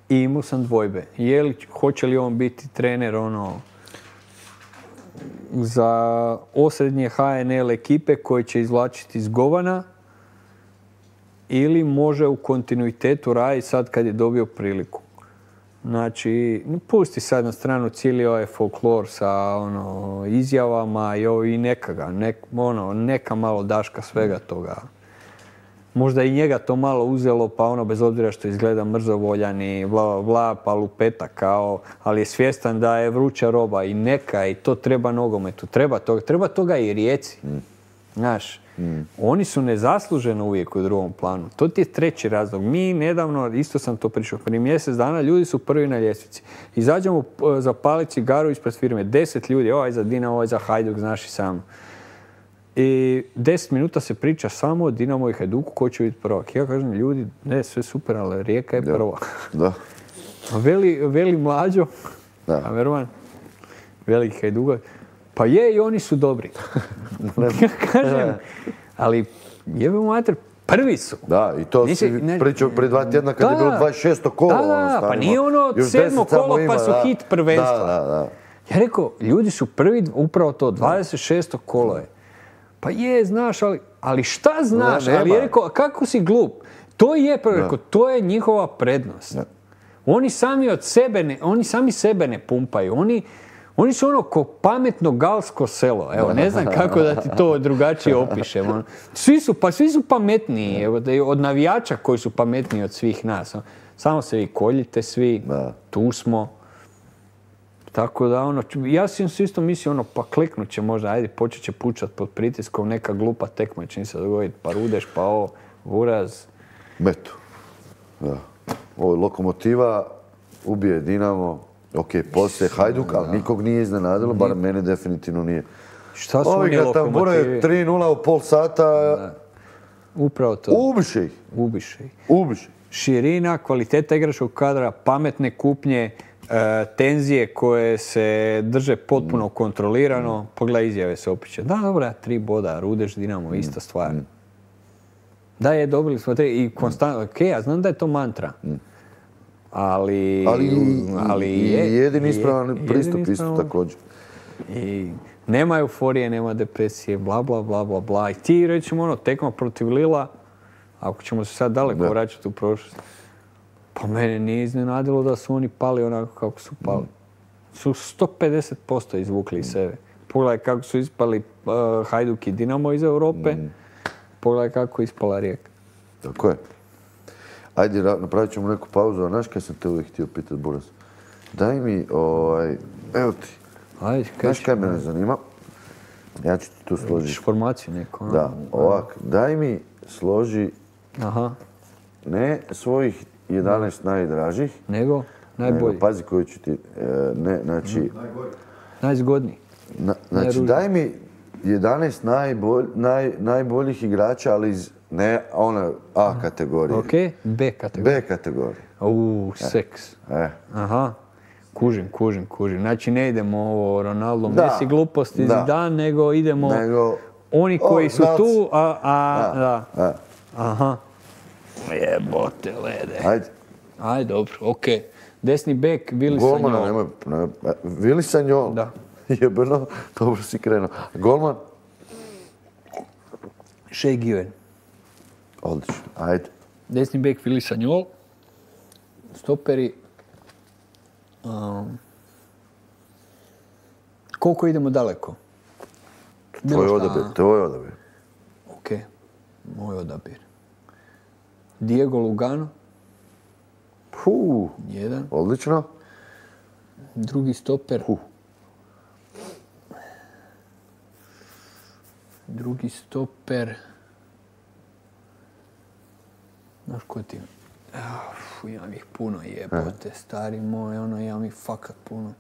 I imao sam dvojbe. Hoće li on biti trener za osrednje HNL ekipe koje će izvlačiti iz govana ili može u kontinuitetu raditi sad kad je dobio priliku. Znači, pusti sad na stranu cijeli ovaj folklor sa izjavama i neka malo daška svega toga. Možda i njega to malo uzelo, pa bez obzira što izgleda mrzovoljan i pa lupeta kao, ali je svjestan da je vruća roba i neka i to treba nogometu. Treba toga i Rijeci. Znaš, oni su nezasluženo uvijek u drugom planu. To ti je treći razlog. Mi nedavno, isto sam to pričao, prije mjesec dana, ljudi su prvi na ljestvici. Izađemo zapaliti cigaru ispred firme. 10 ljudi, ovaj za Dinamo, ovaj za Hajduk, znaš i sam. I 10 minuta se priča samo o Dinamo i Hajduku ko će biti prvak. Ja kažem, ljudi, sve super, ali Rijeka je prva. Da. Veli Mlađo, a Verman, veliki Hajduka, pa i oni su dobri. Ja kažem, ali jebemo mater, prvi su. Da, i to si pričao prije 2 tjedna kad je bilo 26. kolo. Pa nije 7. kolo pa su hit prvenstva. Ja rekao, ljudi su prvi, upravo to, 26. kolo je. Pa znaš, ali šta znaš? Ali je rekao, kako si glup? To je, rekao, to je njihova prednost. Oni sami sebe ne pumpaju. Oni su ko pametno galsko selo. Evo, ne znam kako da ti to drugačije opišem. Svi su pametniji. Evo, od navijača koji su pametniji od svih nas. Samo se vi koljite svi, tu smo. Tako da, ja sam isto mislio, pa kliknut će možda, ajde, počet će pučat pod pritiskom, neka glupa tekma će se dogoditi, pa Rudeš, pa Uraz. Metu. Da. Ovo Lokomotiva ubije Dinamo, poslije Hajduk, ali nikog nije iznenadilo, bar mene definitivno nije. Šta su oni Lokomotivi? 3:0 u pol sata. Upravo to. Ubiše ih. Širina, kvaliteta igračkog kadra, pametne kupnje, tenzije koje se drže potpuno kontrolirano. Pogledaj izjave se opiće. Da, dobra, 3 boda, Rudeš, Dinamo, ista stvar. Da je, dobili smo 3 i konstantno, ja znam da je to mantra. Ali jedini ispravan pristup isto također. I Nema euforije, nema depresije, bla, bla, bla, bla, bla. I ti, recimo, tekma protiv Lila, ako ćemo se sad daleko vraćati u prošlost, pa mene nije iznenadilo da su oni pali onako kako su pali. Su 150% izvukli iz sebe. Pogledaj kako su ispali Hajduk i Dinamo iz Europe, pogledaj kako je ispala Rijeka. Tako je. Ajde, napravit ćemo neku pauzu, a znaš kaj sam te uvijek htio pitati, Buras? Daj mi, evo ti. Ajde, Znaš kaj mene zanima? Ja ću ti tu složiti. Informaciju neku. Da, ovak, daj mi složi ne svojih 11 najdražih, nego najbolji. Pazi koju ću ti, znači... Najzgodniji. Znači, daj mi 11 najboljih igrača, ali iz ne ona A kategorije. Ok, B kategorije. B kategorije. Seks. Aha. Kužim. Znači ne idemo ovo Ronaldo, Messi, gluposti, Zidane, nego idemo oni koji su tu, da. Aha. Jebote lede. Ajde, dobro, ok. Desni bek, Vili Sanjol. Golmana, nemoj. Vili Sanjol. Da. Jebeno, dobro si krenuo. Golman? Shea Given. Odlično, ajde. Desni bek, Vili Sanjol. Stoperi. Koliko idemo daleko? Tvoj odabir. Ok, moj odabir. Diego Lugano. Jedan. Odlično. Drugi stoper. Drugi stoper. Znaš ko ti? Imam ih puno, jebote, stari moj, imam ih fakat puno.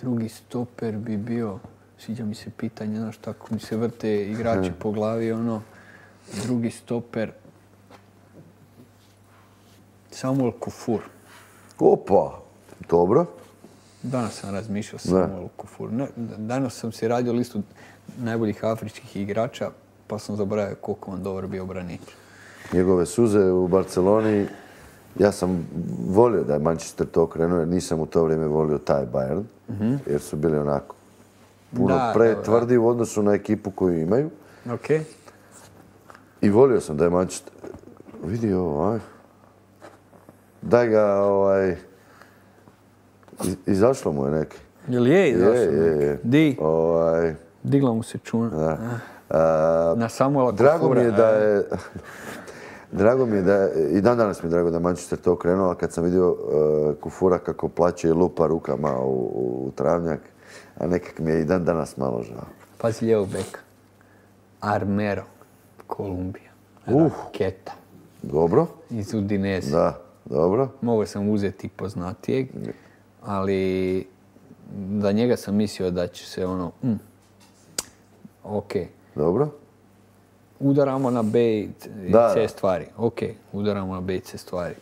Drugi stoper bi bio, sviđa mi se pitanje, znaš, tako mi se vrte igrači po glavi, Drugi stoper, Samuel Kufur. Opa, dobro. Danas sam razmišljao Samuel Kufur. Danas sam si radio listu najboljih afričkih igrača, pa sam zaboravio koliko on dobar bio branič. Njegove suze u Barceloni, ja sam volio da je Manchester to krenuo, jer nisam u to vrijeme volio taj Bayern, jer su bili onako puno pretvrdi u odnosu na ekipu koju imaju. Okay. I volio sam da je Manchester... Vidi ovo, daj ga, izašlo mu je neki. Jel je izašlo neki? Je. Di? Digla mu se čuna. Na Samuela Kufura. Drago mi je da, i danas mi je drago da Manchester to krenuo, a kad sam vidio Kufura kako plaće i lupa rukama u travnjak, a nekak mi je i dan danas malo žao. Pazi lijevog beka. Armero, Kolumbija. Raketa. Dobro. Iz Udinese. Da, dobro. Mogao sam uzeti poznatijeg, ali za njega sam mislio da će se ok. Dobro. Udaramo na B i C stvari. Ok, udaramo na B i C stvari.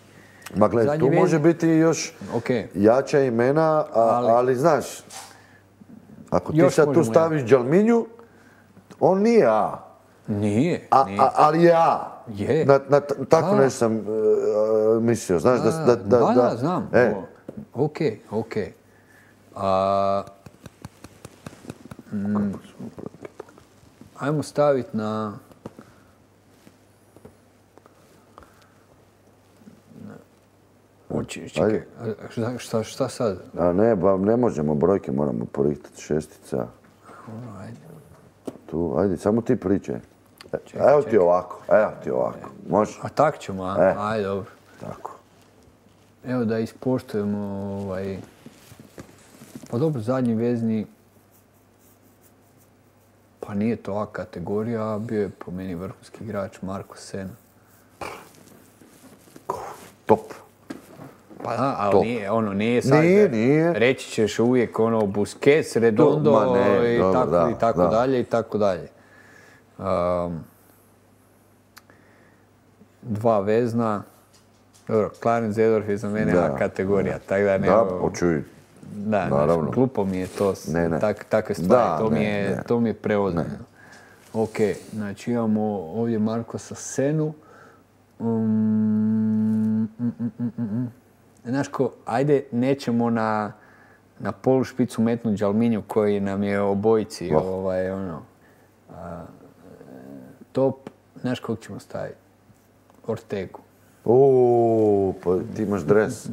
Ma gledaj, tu može biti još jača imena, ali znaš, ako ti sad tu staviš Đalminju, on nije A. Nije. Ali je A. Je. Tako nešto sam mislio, znaš da... Da, znam. Ok. Ajmo staviti na... Čekaj, šta sad? Ne možemo brojke, moramo porihtati šestica. Ajde. Tu, ajde, samo ti pričaj. Evo ti ovako. Može? A tak ćemo, ajde, dobro. Tako. Evo da ispoštujemo Pa dobro, zadnji vezni... Pa nije to A kategorija, a bio je po meni vrhunski igrač Marko Sena. Top. Pa da, ali nije sad... Nije. Reći ćeš uvijek Busquets, Redondo i tako dalje. Dva vezna. Dobro, Clarence Seedorf je za mene A kategorija, tako da ne... Da, počuj. Da, glupo mi je to, takve stvari, to mi je preozbiljno. Ok, znači imamo ovdje Markosa Senu. Znaš ko, ajde nećemo na polušpicu metnut Đalminju koji nam je obojici top. Znaš kog ćemo staviti? Ortegu. Pa ti imaš dres.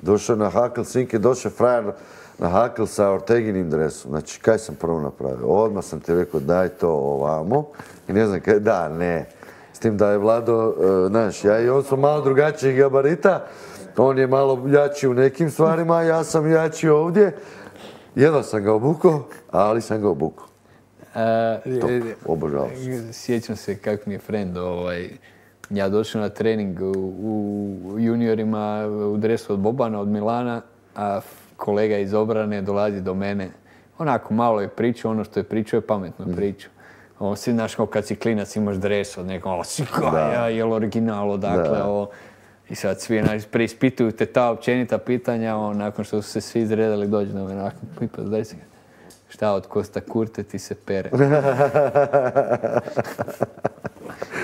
Došao na hakl, sinke, došao frajer na hakl sa Orteginim dresom. Znači, kaj sam prvo napravio? Odmah sam ti rekao, daj to ovamo. I ne znam kaj, da, ne. S tim da je Vlado, znaš, ja i on smo malo drugačijih gabarita. On je malo jači u nekim stvarima, ja sam jači ovdje. Jedva sam ga obukao, ali sam ga obukao. Top, obožavao sam. Sjećam se kako mi je friend, ja došao na trening u juniorima u dresu od Bobana, od Milana, a kolega iz obrane dolazi do mene. Onako malo je pričao, ono što je pričao je pametno pričao. Si, znaš, kad si klinac imaš dres od nekog, jel original odakle, i sad svi preispituju te ta općenita pitanja, nakon što su se svi izredali dođu na mene, pipa, daj se šta od Kosta Kurte ti se pere.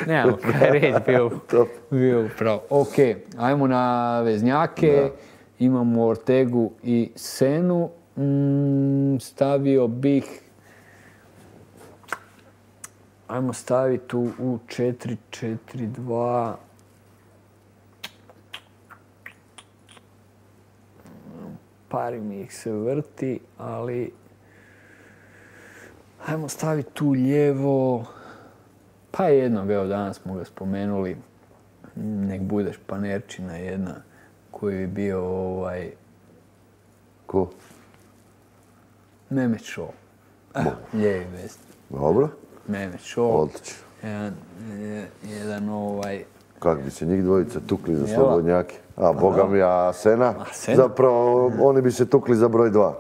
Nemamo kaj reći, bio upravo. Ok, ajmo na veznjake, imamo Ortegu i Senu, stavio bih, ajmo staviti u 4-4-2, pari mi ih se vrti, ali ajmo staviti tu lijevo, pa jednog, evo danas smo ga spomenuli, nek bude Španerčina jedna, koji je bio Ko? Mehmet Šo. Lijevi vest. Dobro. Mehmet Šo. Odlično. Jedan Kak bi se njih dvojica tukli za slobodnjake? A Boga mi, a Sena? Zapravo, oni bi se tukli za broj 2.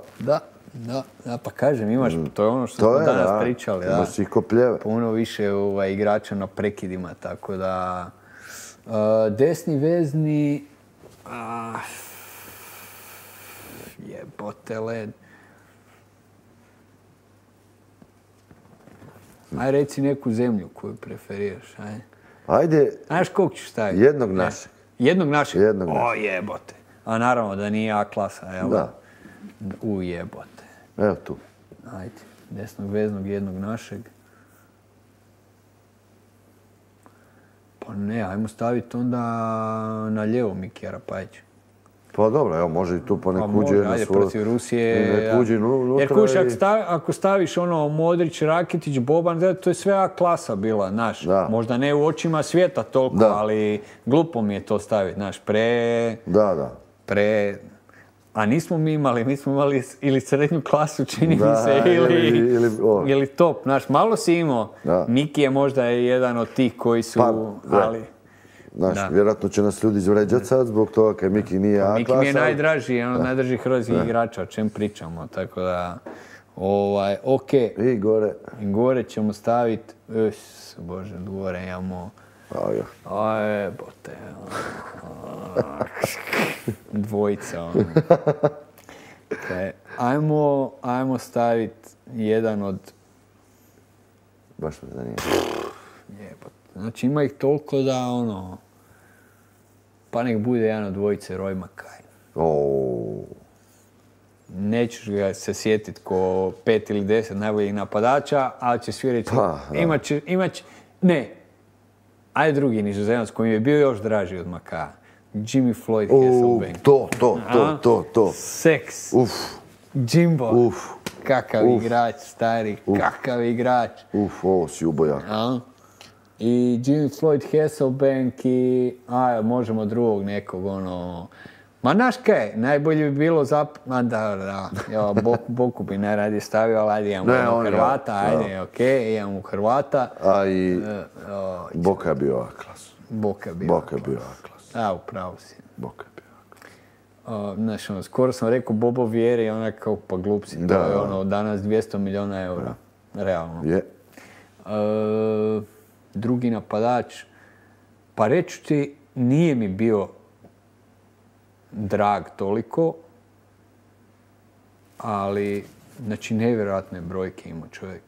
Da, pa kažem, imaš, to je ono što smo danas pričali. Imaš ih ko pljeve. Puno više igrača na prekidima, tako da... Desni vezni... Jebote led. Aj reci neku zemlju koju preferiraš, aj. Ajde... Znaš kog ću staviti? Jednog našeg. Jednog našeg? Jednog našeg. O jebote. A naravno da nije A klasa, jel? Da. U jebote. Evo tu. Ajde, desnog veznog, jednog našeg. Pa ne, ajmo staviti onda na lijevo Mikija Rapajića. Pa dobro, evo, može i tu pa nek uđe na svoju... protiv Rusije. Nek uđe jer kuš, ako staviš Modrić, Rakitić, Boban, to je sve A klasa bila, znaš. Možda ne u očima svijeta toliko, ali glupo mi je to staviti, znaš, A nismo mi imali ili srednju klasu, čini mi se, ili top. Znaš, malo si imao. Miki je možda jedan od tih koji su, ali... Znaš, vjerojatno će nas ljudi izvređati sad zbog toga kaj Miki nije A klasa. Miki mi je najdraži, jedan od najdražih hrvatskih igrača, o čem pričamo, tako da... Ok. I gore. Gore ćemo staviti... Bože, gore imamo... Bote... Dvojica, Ajmo staviti jedan od... Baš me zanima. Znači ima ih toliko da pa nek bude jedan od dvojice Roy Makaj. Nećeš ga se sjetiti ko 5 ili 10 najboljih napadača, ali će svi reći, ne, ajde drugi Nizozemac koji mi je bio još draži od Makaja. Jimmy Floyd Hasselbank. To. Seks. Jimbo. Kakav igrač, stari, kakav igrač. Ovo si ubojak. I Jimmy Floyd Hasselbank i... možemo drugog nekog, Ma znaš kaj, najbolje bi bilo Boku bi najradije stavio, ali ajde imamo Hrvata, imamo Hrvata. A i Boka je bio A klas. Boka je bio A klas. Upravo si. Boka je bio A klas. Znaš, skoro sam rekao Bobo Vjeri, onak kao pa glup si, to je danas 200 milijuna eura, realno. Je. Drugi napadač, pa reći ti, nije mi bio drag toliko, ali, znači, nevjerojatne brojke ima čovjek.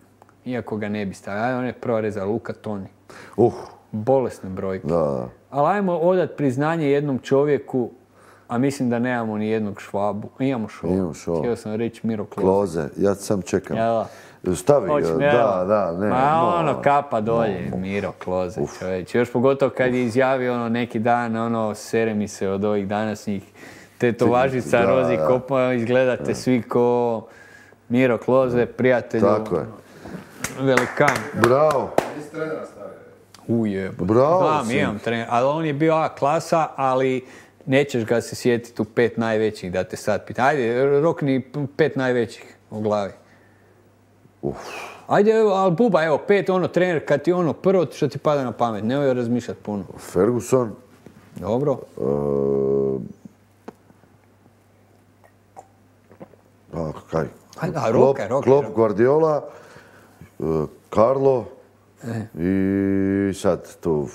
Iako ga ne bi stavio. On je prva reza Luka Toni. Bolesne brojke. Da. Ali ajmo odat priznanje jednom čovjeku A mislim da nemamo ni jednog Švabu. Imamo Švabu. Htio sam reći Miro Kloze. Kloze, ja sam čekam. Jel? Stavi ga, ne. Ma kapa dolje, Miro Kloze, čovječ. Još pogotovo kad je izjavio neki dan, sere mi se od ovih današnjih tetovažica, rozi kopa, izgledate svi ko Miro Kloze, prijatelju. Tako je. Velikan. Bravo. Nisi trenera stavio. Bravo si. Imam trener, ali on je bio A klasa, ali nećeš ga se sjetiti u 5 najvećih da te sad pita. Ajde, rokni 5 najvećih u glavi. Ajde, ali buba, evo, 5 trener kad ti prvo što ti pada na pamet, nemoj razmišljati puno. Ferguson. Dobro. Kaj? Klopp, Guardiola, Carlo i sad tu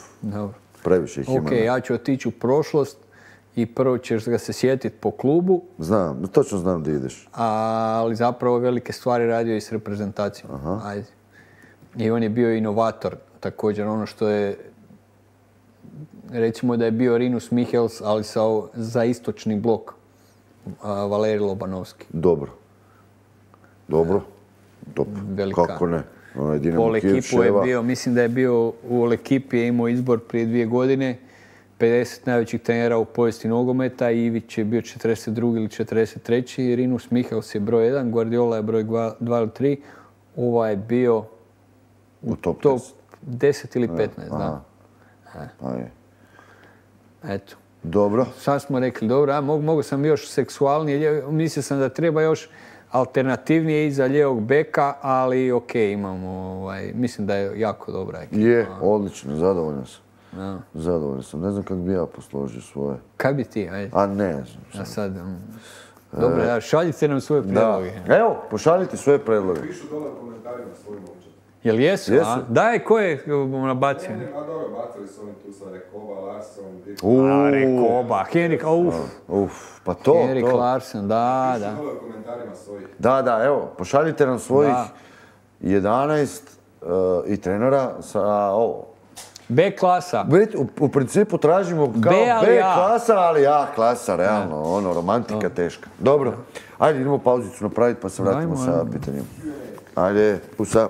previše ih ima. Ok, ja ću otići u prošlost i prvo ćeš ga se sjetiti po klubu. Znam, točno znam gdje ideš. Ali zapravo velike stvari radio i s reprezentacijom. Ajde. I on je bio inovator, također ono što je, recimo da je bio Rinus Michels, ali za istočni blok, Valerij Lobanovski. Dobro. Velika. Kako ne? Pol ekipu je bio, mislim da je bio u ekipi, je imao izbor prije 2 godine, 50 najvećih trenera u povijesti nogometa, Ivić je bio 42. ili 43. Rinus Michels je broj 1, Guardiola je broj 2 ili 3. Ovaj je bio u top 10 ili 15, da. Eto. Dobro. Sad smo rekli, dobro, mogu sam još seksualnije, mislio sam da treba još alternativnije iza lijevog beka, ali ok, imamo, mislim da je jako dobra ekipa. Je, odlično, zadovoljan sam. Zadovoljan sam, ne znam kako bi ja posložio svoje. Kako bi ti, ajde? A ne znam. A sad, dobro, šaljite nam svoje predloge. Evo, pošaljite svoje predloge. Pišu dole u komentarima svojim momčad. Jel jesu? Daj, ko je nabacio? A dobro, bacili su oni tu sa Rekoba, Larson, Rekoba, Henrik, pa to. Henrik Larsson, da. Pišu dole u komentarima svojih. Da, evo, pošaljite nam svojih 11 i trenera sa ovo. B klasa. U principu tražimo kao B klasa, ali A klasa, realno, romantika teška. Dobro, ajde idemo pauzicu napraviti pa se vratimo sa pitanjem. Ajde, pusa.